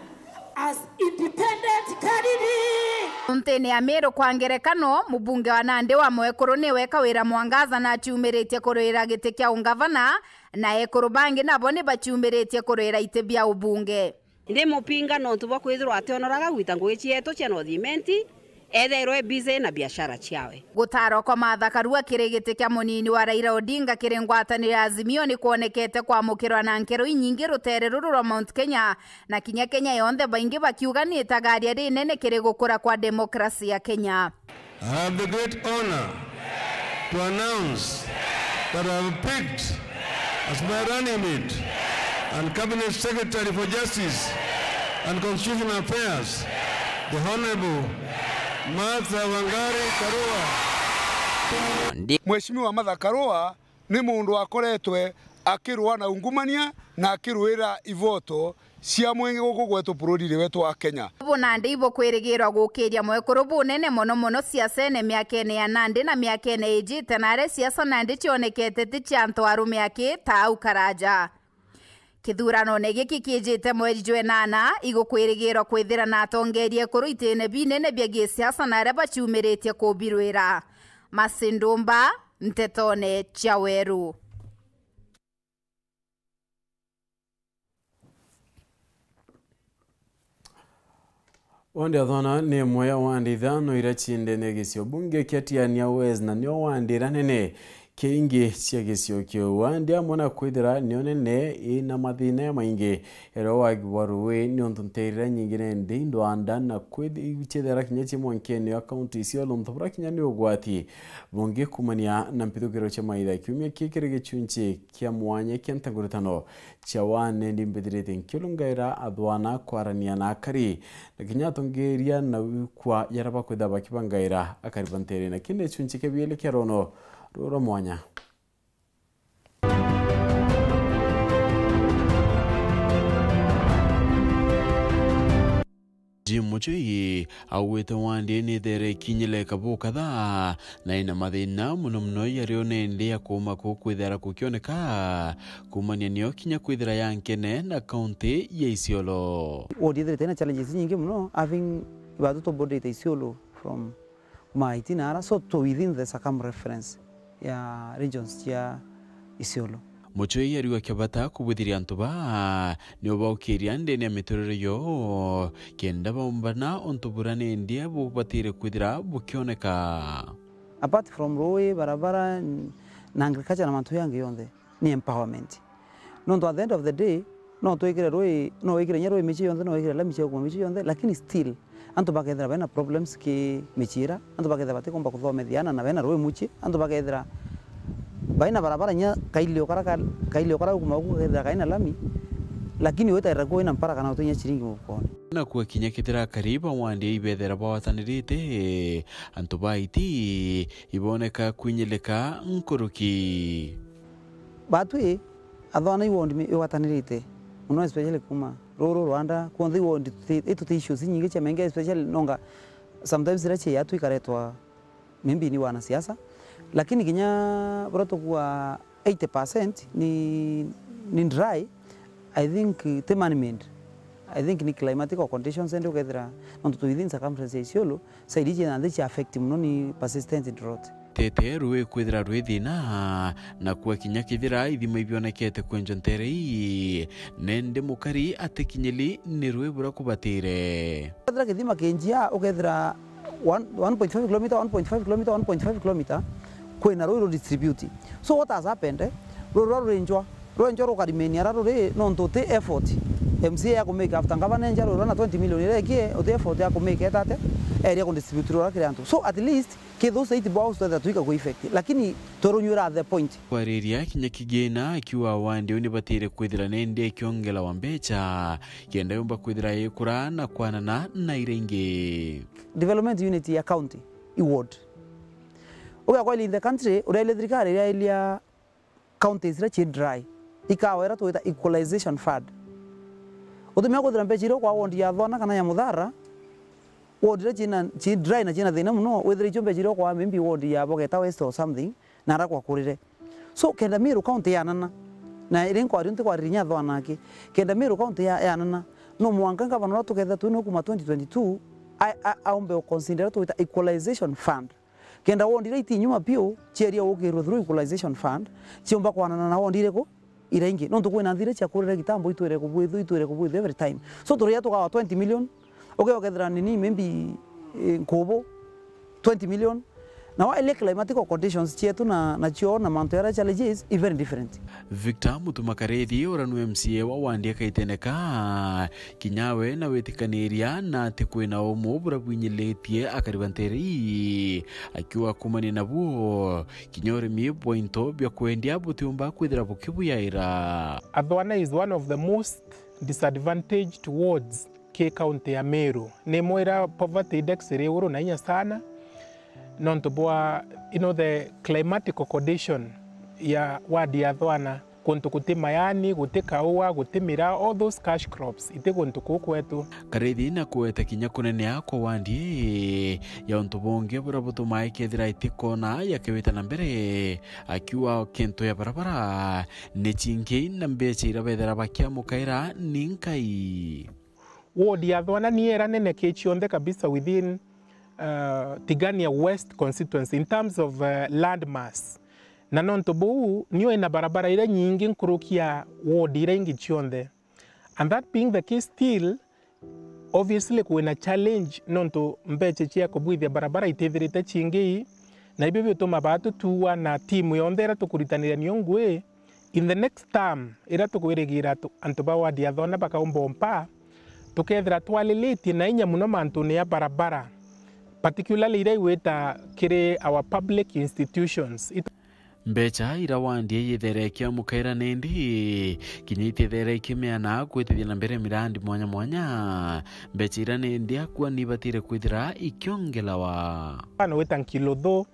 as independent candidate. Kauntine ya Meru, kwa ngerekano, mubunge wa Nandi wa mwekuru niwe Kawira Mwangaza na aciumiritie kurwira giti kia ungavana, na ekuru bangi nabo ni baciumiritie kurwira iti bia ubunge. Ndi mupinga nontu bwa kwithirwa ationoraga gwita ngugi cietu cia North Imenti, ethairwe e busy na biashara ciawe. Gutara kwa Martha Karua kiri giti kia munini wa Raila Odinga kiri ngwataniro ya Azimio ni kwonekete kwamukirwa na nkero inyingi rutere ruru rwa Mount Kenya, na kinya Kenya yonthe, baingi bakiuga ni itagaria rinene kiri gukura kwa demokrasi ya Kenya. I have the great honor to announce that I have picked as my running mate and Cabinet Secretary for Justice and Constitutional Affairs, the Honorable Martha Wangari Karua. Mheshimiwa Martha Karua ni mundu akoretwe akirua na ungumania na akiruira ivoto cia mwingi guku gwetu bururiri wetu wa Kenya. Bubu nandi ibukwirigirwa gukiria mwekuru bunene mono mono siasene miakene ya nandi na miakene ijite, na aria siasa nandi cionekete ti cia antu arume aki ta au karaja. Kithuranone giki kiijite mweri jwa enana, igukwirigirwa kwithira na atongeria ekuru itine binene bia gisiasa na aria baciumiritie kubirwira. Masindumba, ntetone cia Weru. Wandi athona ni imwe ya wandi ithano iria cii ndene ya gisio bunge kia Tigania West, na nio wandi iria nene kiingi cia gisio kiu. Wandi amwe na kwithira nio nene ina mathina jamaingi, iria wagi bwa ruui niuntu nteere iria nyingi nende indwanda na kwithi-, ciithira kinya ci mwankene ya kaunti icio, untu buria kinya ni ugwati bungi kumania na mpithukiro cia maitha. Kiumia kii kiri gichunchi kia mwanya kia ntanguritano cia wane, ndi mbithirite nkiurungaira athwana kwarania na akari, na kinya atongeria na wikwa jaria bakwitha bakibangaira akari ba nteere. Na kindi gichunchi kia biiri kia rono ruu rwa mwanya. Jim Muchui augite wandi ni ithere ikinyire kabu kadhaa na ina mathina mono mono, yario nende ya kuuma kuu kwithira kukioneka, kuumania nio kinya kwithira ya nkene na kaunti ya Isiolo. Ward ithirite ina challenges nyingi mono, having ibatu tuborderite Isiolo from Maiti na ara, so to within the circumference ya regions cia Isiolo. Muchui ariuga kia bata kubuthiria antu baa ni ubaukiria ndene ya miturire yoo, kenda baumbana untu buria nende bubatire kwithira bukioneka. Apart from ruui, barabara, n-, na agriculture na mantu yangi yonthe, ni empowerment. Nontu at the end of the day, no twikire ruui, no wikire nya ruui michii yonthe, no wikire lami cia gukuma michii yonthe, lakini still, antu bakethira bena problems ki michii ira, antu bakethira batikumba kuthomethia ana na bena ruui muchii, antu bakethira baina barabara nya kailio kara ka-, kailio kara gukuma guku kethira kaina lami, lakini witarira kuo wina mpara kana utinya chiringi mufukoni. Na kuo kinya kethira akari ba wandi ibethira bawatanirite, antu ba iti iboneka kwinyilika nkuruki. Batwi, athwana i ward mi-, igwatanirite mono, especially kuma Ruru, Rwanda, kwonthe i ward tuti-, i tuti issues inyingi cia menge, especially nonga sometimes iria cia yatu ikaretwa maybe ni wanasiasa, lakini kinya buria tukua eighty percent ni, ni dry, I think ti man-made. I think ni climatical conditions, and ukethira nontu tu within circumference ya Isiolo, side iji na nthi cia affect mono ni persistent drought. Tete ruui kwithira rwi thina, na kuo kinya kethira ithima ibionekete kwenjwa ntere ii, nende mukari atikinyiri ni ruui buria kubatire. Kethira kithima kinjia, ukethira one, one point five kilometer, one point five kilometer, one point five kilometer, kwina ruui ru distribute. So what has happened, eh? Ruui ruria rurinjwa, rwenjwa rukarimenia ara ruri, nontu uti effort M C A ya kumake after ngavana enja ruui ruria na twenty million iria ekie, uti effort ya kumake etate, area ku distribute ruria kiri antu. So at least, kethira those eight boreholes twethira twika ku effect, lakini turunyuira at the point. Kwariria kinya kigina, akiuga wandi uu nibatire kwithira nende ikiongelawa mbecha, kenda yumba kwithira ikura na kwanana na iria ingi. Development unit ya county, i ward. Uga kweli in the country, uria ile thirikari iria ilia counties iria ci dry, ikawa iria twita equalization fund. Utumia kwithira mbecha iria ukwa ward ya Thwana kana ya Muthara, ward iria cina, ci dry na cina thina mono, withire icio mbecha iria ukwa maybe ward ya Bogeta West or something, na ara kwakurire. So, kenda Meru County yanana, na iri nkwaria nti kwaririnya Thwana aki, kenda Meru County ya-, yanana, no mwanka ngavana uria tukethira twina kuma twenty twenty-two, a-, a-, aumbe uconsider twita equalization fund. Kenda ward iria iti nyuma piu, cieria gukirwe through equalization fund, ciumba kwanana na ward iriku? Iria ingi. Nontu kwina nthi iria ciakurire kitambo, itwire kubwithu, itwire kubwithu every time. So, turia tugawa twenty million, uke ukethira nini, maybe, eh, nkubu, twenty million. Na wa ile climatical conditions cietu na, na cio na mantu yaria challenges, i very different. Victor Mutuma Karethi, uria ni M C A wa ward ya Kaiteneka, kinya we na witikaniria na ati kwina umu buria bwinyilitie akari ba ntere ii, akiuga kumania nabuo, kinya urimi bwa into bia kwendia butiumba kwithira bukibuyaira. Athwana is one of the most disadvantaged wards ki county ya Meru. Ni imwe iria poverty index iri iguru na inya sana, nontu bwa, you know, the climatical condition ya ward ya Athwana. Kuntu guti mayani, guti kaua, guti miraa, all those cash crops, iti guntu kuu kwetu. Karithi na kugweta kinya kunenea kwa wandi ii ya untu bungi buria butumaa ikethira itikwona yakiwita na mbere, akiuga kintu ya barabara ni cingi na mbeca iria bethira bakiamukaira ni nkai. Ward ya Thwana niyo iria nene ki cionthe kabisa within, uh, Tigania West constituency in terms of, uh, land mass. Na nontu buu, niyo ina barabara iria nyingi nkuruki ya ward iria ingi cionthe. And that being the case still, obviously kwina challenge nontu mbeca cia kubwithia barabara itithirite cingi, na ibio biutuma baa tutuua na timu yonthe iria tukuritaniria nio ngui, in the next term, iria tukwirigira tu-, antu ba ward ya Thona bakaumba umpa, tukethira twalilitie na inya muno mantune ya barabara, particularly iria igwita kiri our public institutions. It- Mbeca iria wandi ii yithere ikiamukaira nindi, kinya itithere ikimeana kwitithia na mbere mirandi mwanya mwanya. Mbeca iria nindi akua ni ibatire kwithira ikiongelawa. Mfano wita Nkiluthu,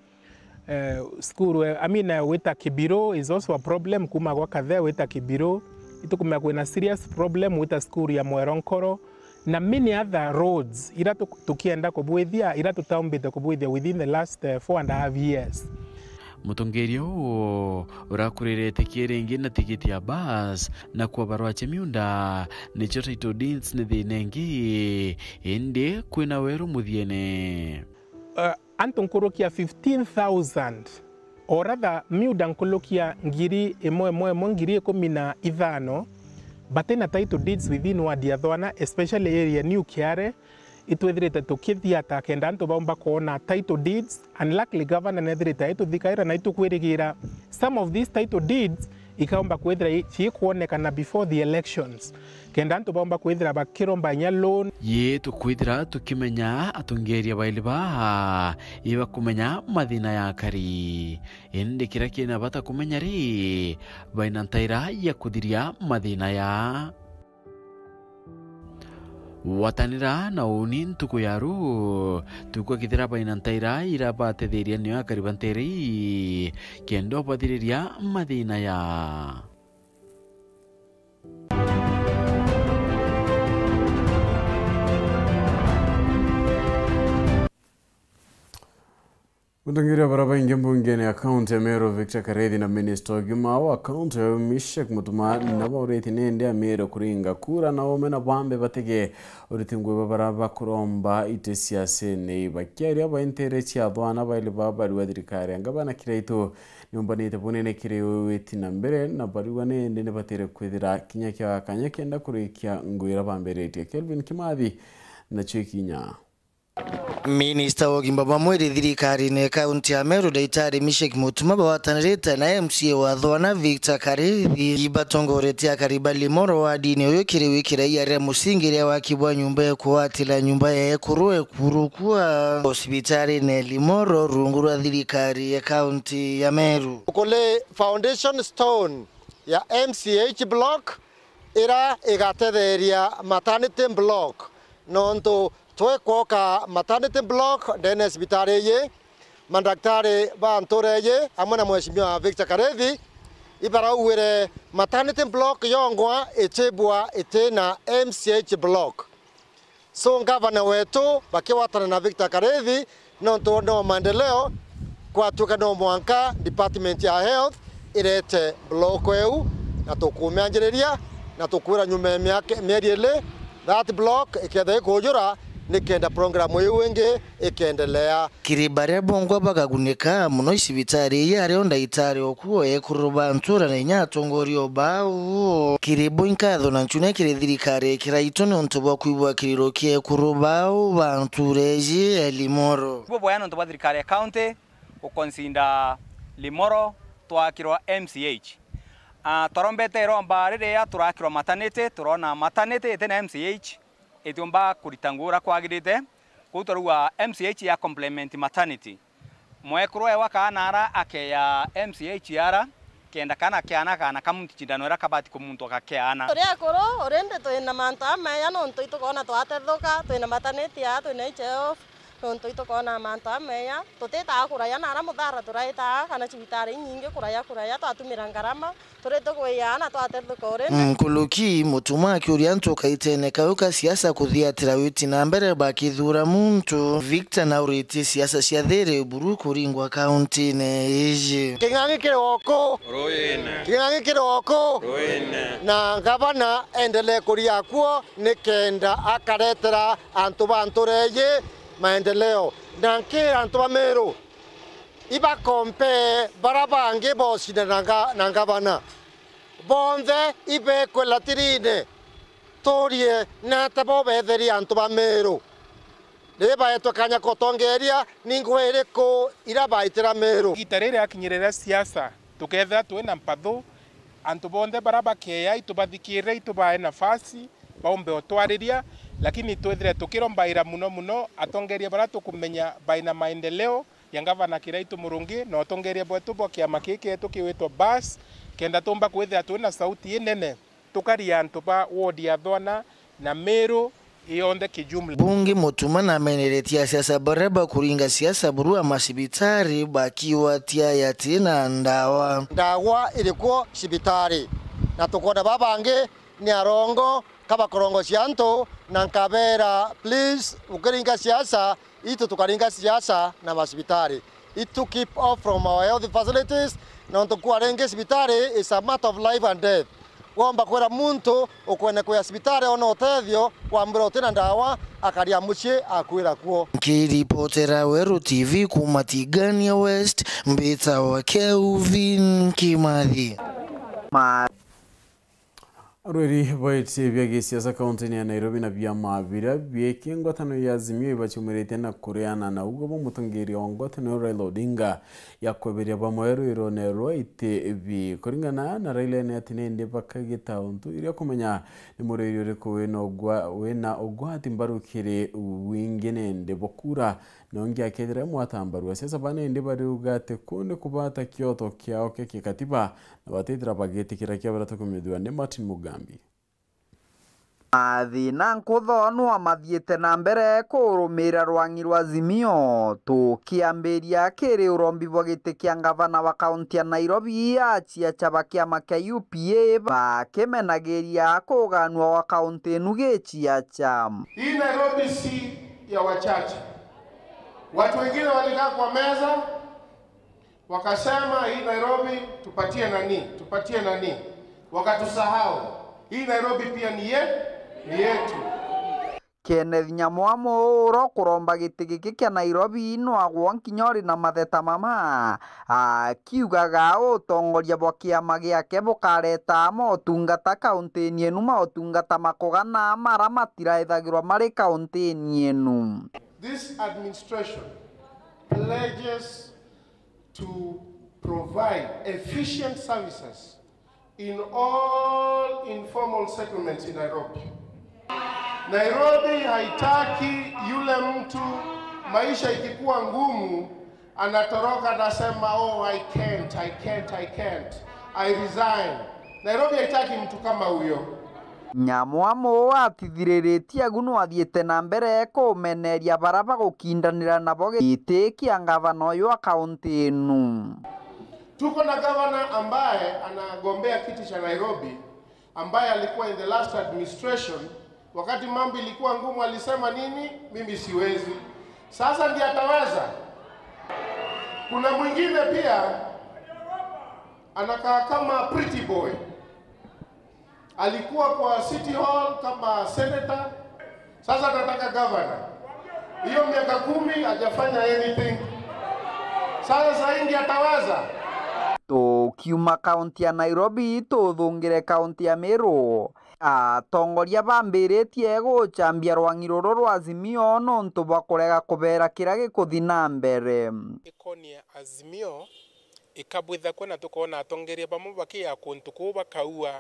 eh, school, eh, I mean, eh, wita Kibiro is also a problem, kuma gwa Kathea wita Kibiro. Itukumenya kwina serious problem wita school ya Mweronkoro. Na many other roads ira tu-, tukienda kubwithia, ira tutaumbite kubwithia within the last, eh, four and a half years. Mutongeria uu urakurire itikia ringi na tigiti ya bus, na kwa barua cia miunda, nicio title deeds ni thina ingi, indi kwina weru muthiene. Eh, antu nkuruki ya fifteen thousand, or rather, miunda nkuruki ya ngiri imwe, imwe, imwe, ngiri ikumi na ithano, batina title deeds within ward ya Thwana, especially area New Kiare, itwithirite tukithiata kenda antu baumba kwona title deeds, and luckily governor nethirite aituthikaira na itukwirigira some of these title deeds ikaumba kwithira i-, ciikwonekana before the elections, kenda antu baumba kwithira bakiromba inya loan. Ii tukwithira tukimenya atongeria baili baa ibakumenya mathina ya akari. Indi kiria kina bata kumenya ri, baina ntaira ya kuthiria mathina ya. Gwatanira na uuni ntuku ya ruu, tukwakithira baina ntaira ira batetheria nio akari ba ntere ii, kenda ubathiriria mathina ya. Mutongeria baria baingi mbungene ya kaunti ya Meru, Victor Karethi, na minista ugima wa kaunti ya Mishek Mutuma, nabo bauritie nindi Ameru kuringa kura na ume na bambe batege uriti ngui ba baria bakuromba iti siasene. Bakiaria bai ntere cia athwana baili ba bari wa thirikari ya ngavana Kiraitu, niumbanite bunene kiri witi na mbere na bariwa nindi nibatire kwithira kinya kia kanya kenda kurikia ngui iria bambiritie. Kelvin Kimathi nacio ikinya. Minista wa ugima bwa mwiri thirikarine kaunti ya Meru, Daitari Mishek Mutuma, bagwatanirite na M C A wa Thwana Victor Karithi, ibatongoretie akari ba Limoro wadine uyu kiri wikira iria ria musingi ria waki bwa nyumba ya kuwatira nyumba ya ekuru ekurukua osibitarine Limoro rungu rwa thirikari ya kaunti ya Meru. Tukuli foundation stone ya M C H block ira igatetheria maternity block, nontu twikwoka maternity block ndene ya cibitari iyi, mandaktari ba ntura iyi amwe na Mheshimiwa Victor Karethi ibarauwire maternity block yongwa icibwa itina M C H block. So, ngavana wetu bakigwatana na Victor Karethi, nontu no maendeleo, kwatuika no mwanka department ya health irete block eu, na tukumianjiriria, na tukwira nyuma ya miaka, mieri ili, that block iketha ikujura, nikenda program iu ingi ikendelea. Kiri baria bongwa bakagunika mono i cibitari ii, ario ndaitari okuo, ekuru ba ntura na inya atongoria o bau. Kiri bo inkatho na nchune kiri thirikari ya Kiraitu niuntu bwa kwibwa kiriro kia ekuru bau ba ntura iji ya Limoro. Bubwega niuntu bwa thirikari ya county guconsider Limoro twakirwa M C H. Ah, twarombete iromba riria turakirwa maternity, turona maternity iti na M C H itiumba kurita ngugi uria kwagirite. Kwou twarauga M C H ya complement maternity. Mwekuru ewa kaana ara akeya M C H ara, kenda kaana keana kaana kamunti cindano iria kabati kumuntwa gakeana. Turi akuru, urindi twina mantu ameya nontu itukona twatethuka, twina maternity aa, twina H I F, Nontu itukoona mantu ameya, tutitaa kuraya na ara muthara turaitaa kana cibitari inyingi kuraya kuraya, twatumira ngarama, turi tugwiya na twatethuka urindi. Nkuruki, Mutuma akiuria antu kaitene kau ka siasa kuthiatira witi na mbere bakithuura muntu. Victor nauritie siasa cia thiiri buru kuringwa kauntine iji. King'ang'i kiri oku. Ruine. King'ang'i kiri oku. Ruine. Na ngavana endelee kuria kuo nikenda akaretera antu ba ntuura iji maendeleo. Na nkira antu ba Meru, ibakompee bara bangi bocindana na nga-, na ngavana. Bonthe ibekwe latirine. Turie, nata bo betheria antu ba Meru? Riria baetwe kanya kotongeria, ni ngugi iriku iria baitira Meru? Igita riri akinyire ria siasa, tukethira twina mpathu, antu bonthe bara bakeya itubathikirire, itubae nafasi, baumbe utwariria, lakini twithire tukirombaira muno muno atongeria bara tukumenya baina maendeleo ya ngavana Kiraitu Murungi na utongeria bwetu bwa kiama kii kietu kiwitwa bas, kenda tumba kwithira twina sauti inene tukaria antu ba ward ya Thwana na Meru yonthe kijumla. Bungi Mutuma nameneretie asiasa baria bakuringa siasa buru a macibitari bakiwatia yatina ndawa. Ndawa iri kuo cibitari, na tukwona babangi ni arongo ka bakorongocia antu, na nkabera, please, ukiringa siasa, itu tukaringa siasa na macibitari. Itu keep off from our health facilities, nontu kwa ringi cibitari is a matter of life and death. Womba kwira muntu ukwene kwia cibitari ona utethio, wambira utina ndawa, akaria mucii akwira kuo. Nkiripotera Weru T V kuuma Tigania West, mbitawa Kelvin Kimathi. Ma- Arweri baiti bia gisiasa kaunti-ini ya Nairobi na biama biria biiki ngwataniro ya Azimio ibaciumiritie na kureana na ugo bwa mutongeria wa ngwataniro Raila Odinga ya kweberia bamwe rwirone rwa iti bi. Kuringana na Raila ni ati nindi bakagita untu iria kumenya ni murwiri uriku wina ugwa-, wina ugwati mbaru kiri wingi nindi bukura. Na ungi akethira mwatambarua siasa bana indi bariuga ati kuu ni kubata kioto kiao kia kikatiba na batithira bagitikira kia baria tukumithua ni Martin Mugambi. Mathina nkutho nwa mathiite na mbere kurumira rwang'i rwa Azimio, tukiambiria kiri urombi bwa giti kia ngavana wa kaunti ya Nairobi, aciaca ba kiama kia U P A bakimenagiria kuganua gwa kaunti inu giciaca. Hii Nairobi si ya wachache. Watu wengine walikaa kwa meza, wakasema, "Hii Nairobi tupatie nani, tupatie nani." Wakatusahau. Hii Nairobi pia ni ye-, ni yetu. Kenneth Nyamwamu uro kuromba giti giki kia Nairobi nwagwo nkinya uri na matheta mama, akiugaga utongoria bwa kiama giake bukareta motungata kaunti-ini inu, motungata makugana mara matiraethagirwa mari kaunti-ini inu. This administration pledges to provide efficient services in all informal settlements in Nairobi. Nairobi haitaki yule mtu maisha ikikuwa ngumu anatoroka, anasema, "Oh, I can't, I can't, I can't. I resign." Nairobi haitaki mtu kama huyo. Nyamwamu atithiriritie agu nwathiite na mbere kumeneria bara bagukindanira nabo giti kia ngavana uyu wa kaunti inu. Tuko na gavana ambaye anagombea kiti cha Nairobi, ambaye alikuwa in the last administration. Wakati mambo ilikuwa ngumu, alisema nini? "Mimi siwezi." Sasa ndiye ataweza. Kuna mwingine pia anakaa kama pretty boy. Alikuwa kwa City Hall kama senator. Sasa anataka governor. Hiyo miaka kumi hajafanya anything. Sasa saa hii ndiye ataweza. Tukiuma kaunti ya Nairobi, tuthungire kaunti ya Meru. Atongoria bambiritie gucambia rwang'i ruru rwa Azimio nontu bwa kurega kubera kiria gikuthi na mbere. Ikonie Azimio, ikabwitha kwena tukoona atongeria bamwe bakiya kuntu kuu bakaua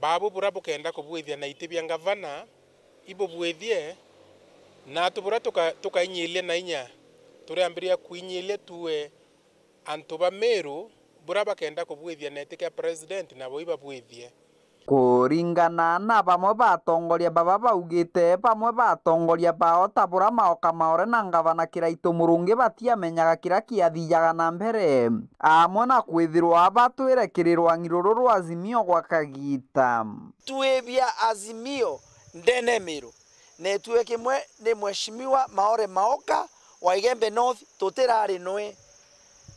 baabu buria bukenda kubwithia na iti bia ngavana, ibubwithie, naatu buria tuka-, tukainyiilia na inya, turiambiria kwinyiilia tuwe antu ba Meru buria bakenda kubwithia na iti kia president nabo ibabwithie. Kuringana na bamwe ba atongoria baba baugite, bamwe ba atongoria bao ta bura Maoka Maore na ngavana Kiraitu Murungi batiamenyaga kiria kiathijaga na mbere, amwe na kwithirwa batwire kiri rwang'i ruru rwa Azimio gwa kagiita. Twibia Azimio ndene Miru, na itue kimwe ni Mheshimiwa Maore Maoka wa Igembe North, tutirari nwe.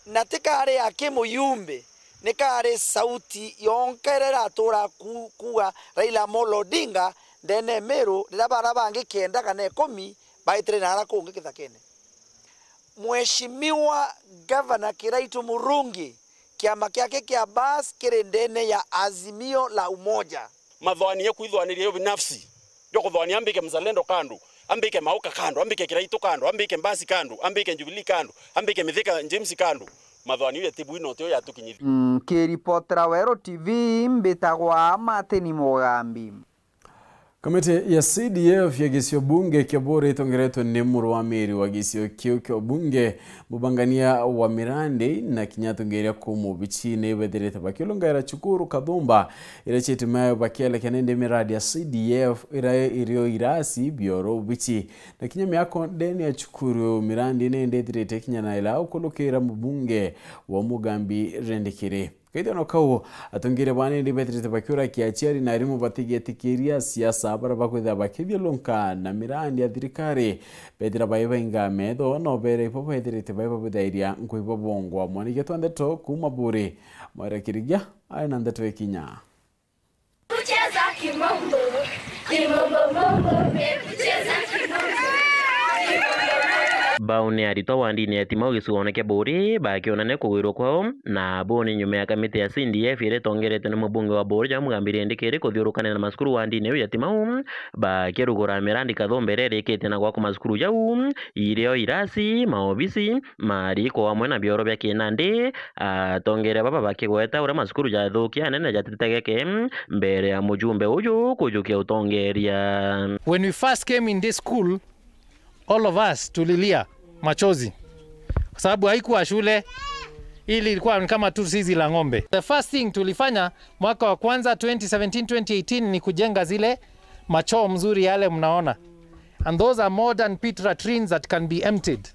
Na tikari aki muyumbe, ni kari sauti yonka iria iratura ku-, kuuga Raila Amolo Odinga ndene Miru, riria bara bangi kenda kana ikumi baitire naara kungi kithakene. Mheshimiwa Gavana Kiraitu Murungi, kiama kiake kia Bas kiri ndene ya Azimio la Umoja. Mathwani ya kwithwaniria yo binafsi, yo kuthwania ambike mzalendo kando, ambike Maoka kando, ambike Kiraitu kando, ambike Mbasi kando, ambike Jubilee kando, ambike Mithika James kando. Mathwani ya tibu ino tio yatukinyithia. Nkiripotera Weru T V, mbitagwa Martin Mugambi. Kamiti ya C D F ya gisio bunge kia Buuri itongeretwe ni murwamiri wa gisio kiu kia ubunge, mubangania wa mirandi na kinya atongeria kuu mubichi ni bethirite bakiulungaira cukuru Kathumba iria ciitime bakielekea nindi miradi ya C D F iria irio irasi bioro bichi na kinya miako ndene ya cukuru. Mirandi nindi ithirite kinya na ila ukulukira mubunge wa Mugambi Rendikiri. Kaithano kau, atongeria baa nindi bethirite bakiurakia aciari na arimu batigetikiria siasa baria bakwithira bakithiurunka na mirandi ya thirikari. Bethira bai bainga metho, no bere ibo bethirite bai babithairia nkui babongwa. Mwanigetu wa ndeto kuuma Buuri, Mwaira Kirigia, ari na ndeto ikinya. Kucheza kimombo, kimombo mombo, kucheza kimombo. Bau ni aritwa wa ndini ya Timau gicigoone kia Buuri bakionania kugwirwa kwao, na buu ni nyuma ya kamiti ya C D F iria itongeretwe ni mubunge wa Buuri ja Mugambi Rendikiri kuthiurukania na macukuru wa ndini iu ya Timau, bakirugura mirandi Kathumba iria irikite na gwakwa macukuru jau, irio irasi, maobisi, mariko amwe na bioro bia kinandi. Atongeria baba bakigweta uria macukuru jathukia anene jatitegeke mbere ya mujumbe uju kujukia utongeria. When we first came in this school, all of us tulilia machozi kwa sababu haikuwa shule, ili ilikuwa ni kama tu zizi la ng'ombe. The first thing tulifanya mwaka wa kwanza twenty seventeen twenty eighteen ni kujenga zile machoo mzuri yale mnaona. And those are modern pit latrines that can be emptied.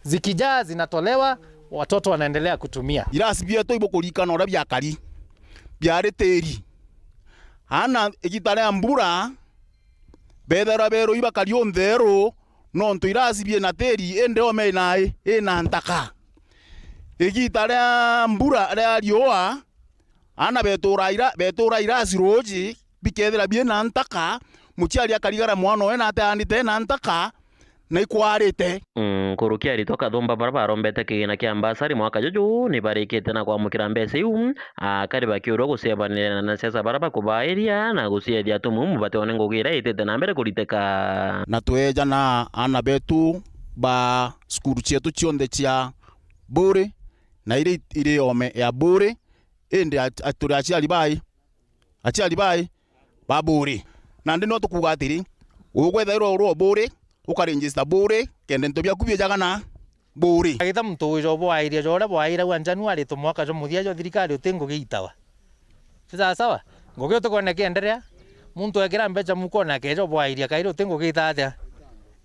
Zikijaa zinatolewa, watoto wanaendelea kutumia. Irasi bietu ibukuririkana uria biakari, biari tiri. Ana igita ria mbura, bethagirwa berui bakari untheru, nontu irasi biina tiri, indi ome inai, ina ntaka. Igita ria mbura ria riua, ana betura ira-, betura irasi ruuji, bikethira biina ntaka, muciari akarigara mwana owe na ateandite ena ntaka, na ikwarite. Mm, nkuruki aritwa Kathumba bara barombete kigina kia mbasari mwaka juju, ni barikite na kwamukira mbeca iu, akari bakiurwa gucebanira na siasa bara bakubairia na guciethia tumumu bateone ngugi iria itite na mbere kuriteka. Na tweja na ana betu ba cukuru cietu cionthe cia Buuri, na iria iri ome ya Buuri, indi a-, a-, turi aciari bai, aciari bai ba Buuri. Nandi no tukuuga atiri, ugwethairwa uri o Buuri, ukaregister Buuri, kenda into biaku biejaga na Buuri. Agita muntu wija bwairia ja uria bwairagua Januari, tu mwaka jwa muthia jwa thirikari uti ngugi itawa. Ti sawa sawa? Ngugi utikwona ikienderea, muntu ekira mbeca mukone akeja bwairia kairi uti ngugi ita atia?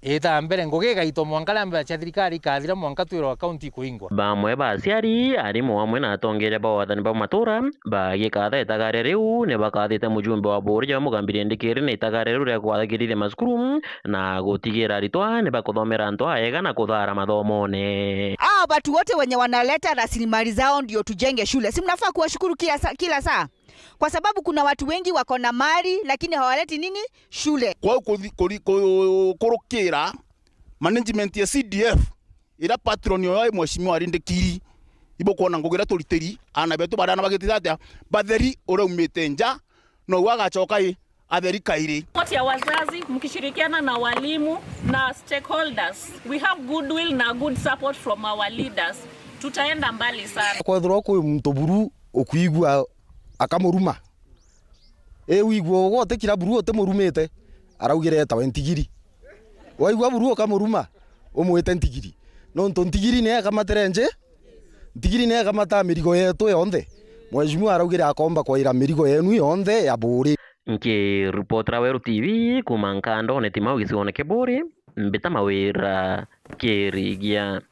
Ita mbere, ngugi igaitwa mwanka ria mbeca cia thirikari ikathira, mwanka twirwa akaunti ikuingwa. Bamwe ba aciari, arimu amwe na atongeria ba wathani ba matura bagikatha itagaria riu, ni bakathite mujumbe wa Buuri ja Mugambi Rendikiri na itagaria riu ria kwathagirithia macukuru na gutigira aritwa ni bakuthomera antu aega na kuthara mathomone. Hao watu wote wenye wanaleta rasilimali zao ndio tujenge shule, si mnafaa kuwashukuru kila sa-, kila saa? Kwa sababu kuna watu wengi wako na mali, lakini hawaleti nini? Shule. Kwou kuthi-, kuri-, ku-, kurukira management ya C D F, ira patron oyo e Mheshimiwa Rindikiri, ibukwona ngugi iria turitiri, ana betu bariana bagitite atia, batheri uria umite nja, nou agacoka i, atheri kairi. Support ya wazazi, mkishirikiana na walimu na stakeholders. We have goodwill na good support from our leaders. Tutaenda mbali sana. Kwethirwa kwi muntu buru ukwigua akamuruma. I wigua ugwe utikira buru utimurumite, araugire etawe ntigiri. Waigua buru ukamuruma, umwite ntigiri. Nontu ntigiri niyo ekamatire nji, ntigiri niyo ekamataa mirigo yetu yonthe. Mheshimiwa araugire akomba kwaira mirigo yenu yonthe ya Buuri. Nkiripotera Weru T V kuuma Nkandone Timau gicigoone kia Buuri, Mbita Mawira Kirigia.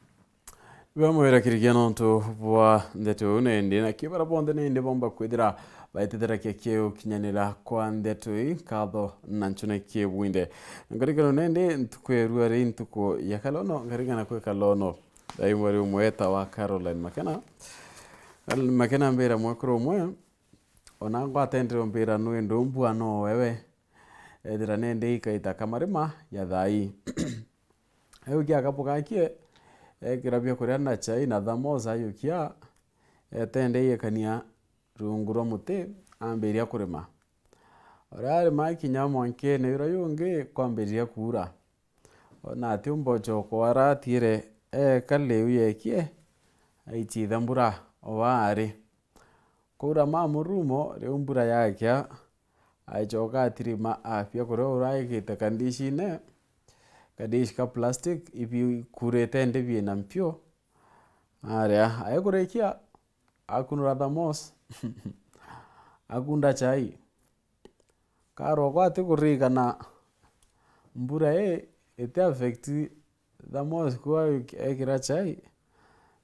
Bamwira Kirigia nontu bwa ndeto iu nindi, na kibara bonthe nindi bomba kwithira baitithirakia kiu kinyanira kwa ndeto ii, nkatho na nchune kibwinde. Nkarikano nindi ntuku ya rua ri ntuku ya kalono, nkarigana kwi kalono. Thai mweri umwe ta wa Caroline Makena. Caroline Makena ambira mwekuru umwe, ona ngwatendere umbira nwi ndu mbua no wewe. Ethira nindi ikaita kamarima ya thai. Ayu kia kabu gakie, ekira biakuria na chai na thermos ayukia, etende iekania rungu rwa muti, ambiria kurima. Uria arima kinya mwankene uria yungi kwambiriria kuura. Ona ati umbocho kwara atiire eeka liu yekie, aichitha mbura o aari. Kwaura ma murumo, riu mbura yakia, aichoka atirima afia kuria uraigite kandishine, kandishi ka plastic, ibikurite ndi biina mpio. Aria, aikurikia, akunura thermos, akunda chai. Karokwa ati kuririkana mbura ii iti affect thermos ku ekira chai,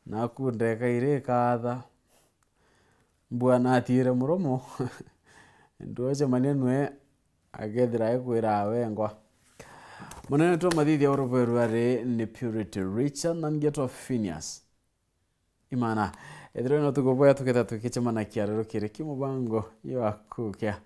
na akunda ikairi ikatha. Mbua natiire muromo, nduocemania nwe akethira ekwira wengwa. Munene twa mathithia urubwerwa ri ni Purity Richard na ngetwa Phineas Imana. Ethirwa ni utuku bwega tuketha tukicemana kiaruru kiri ki mubango jwa kukia.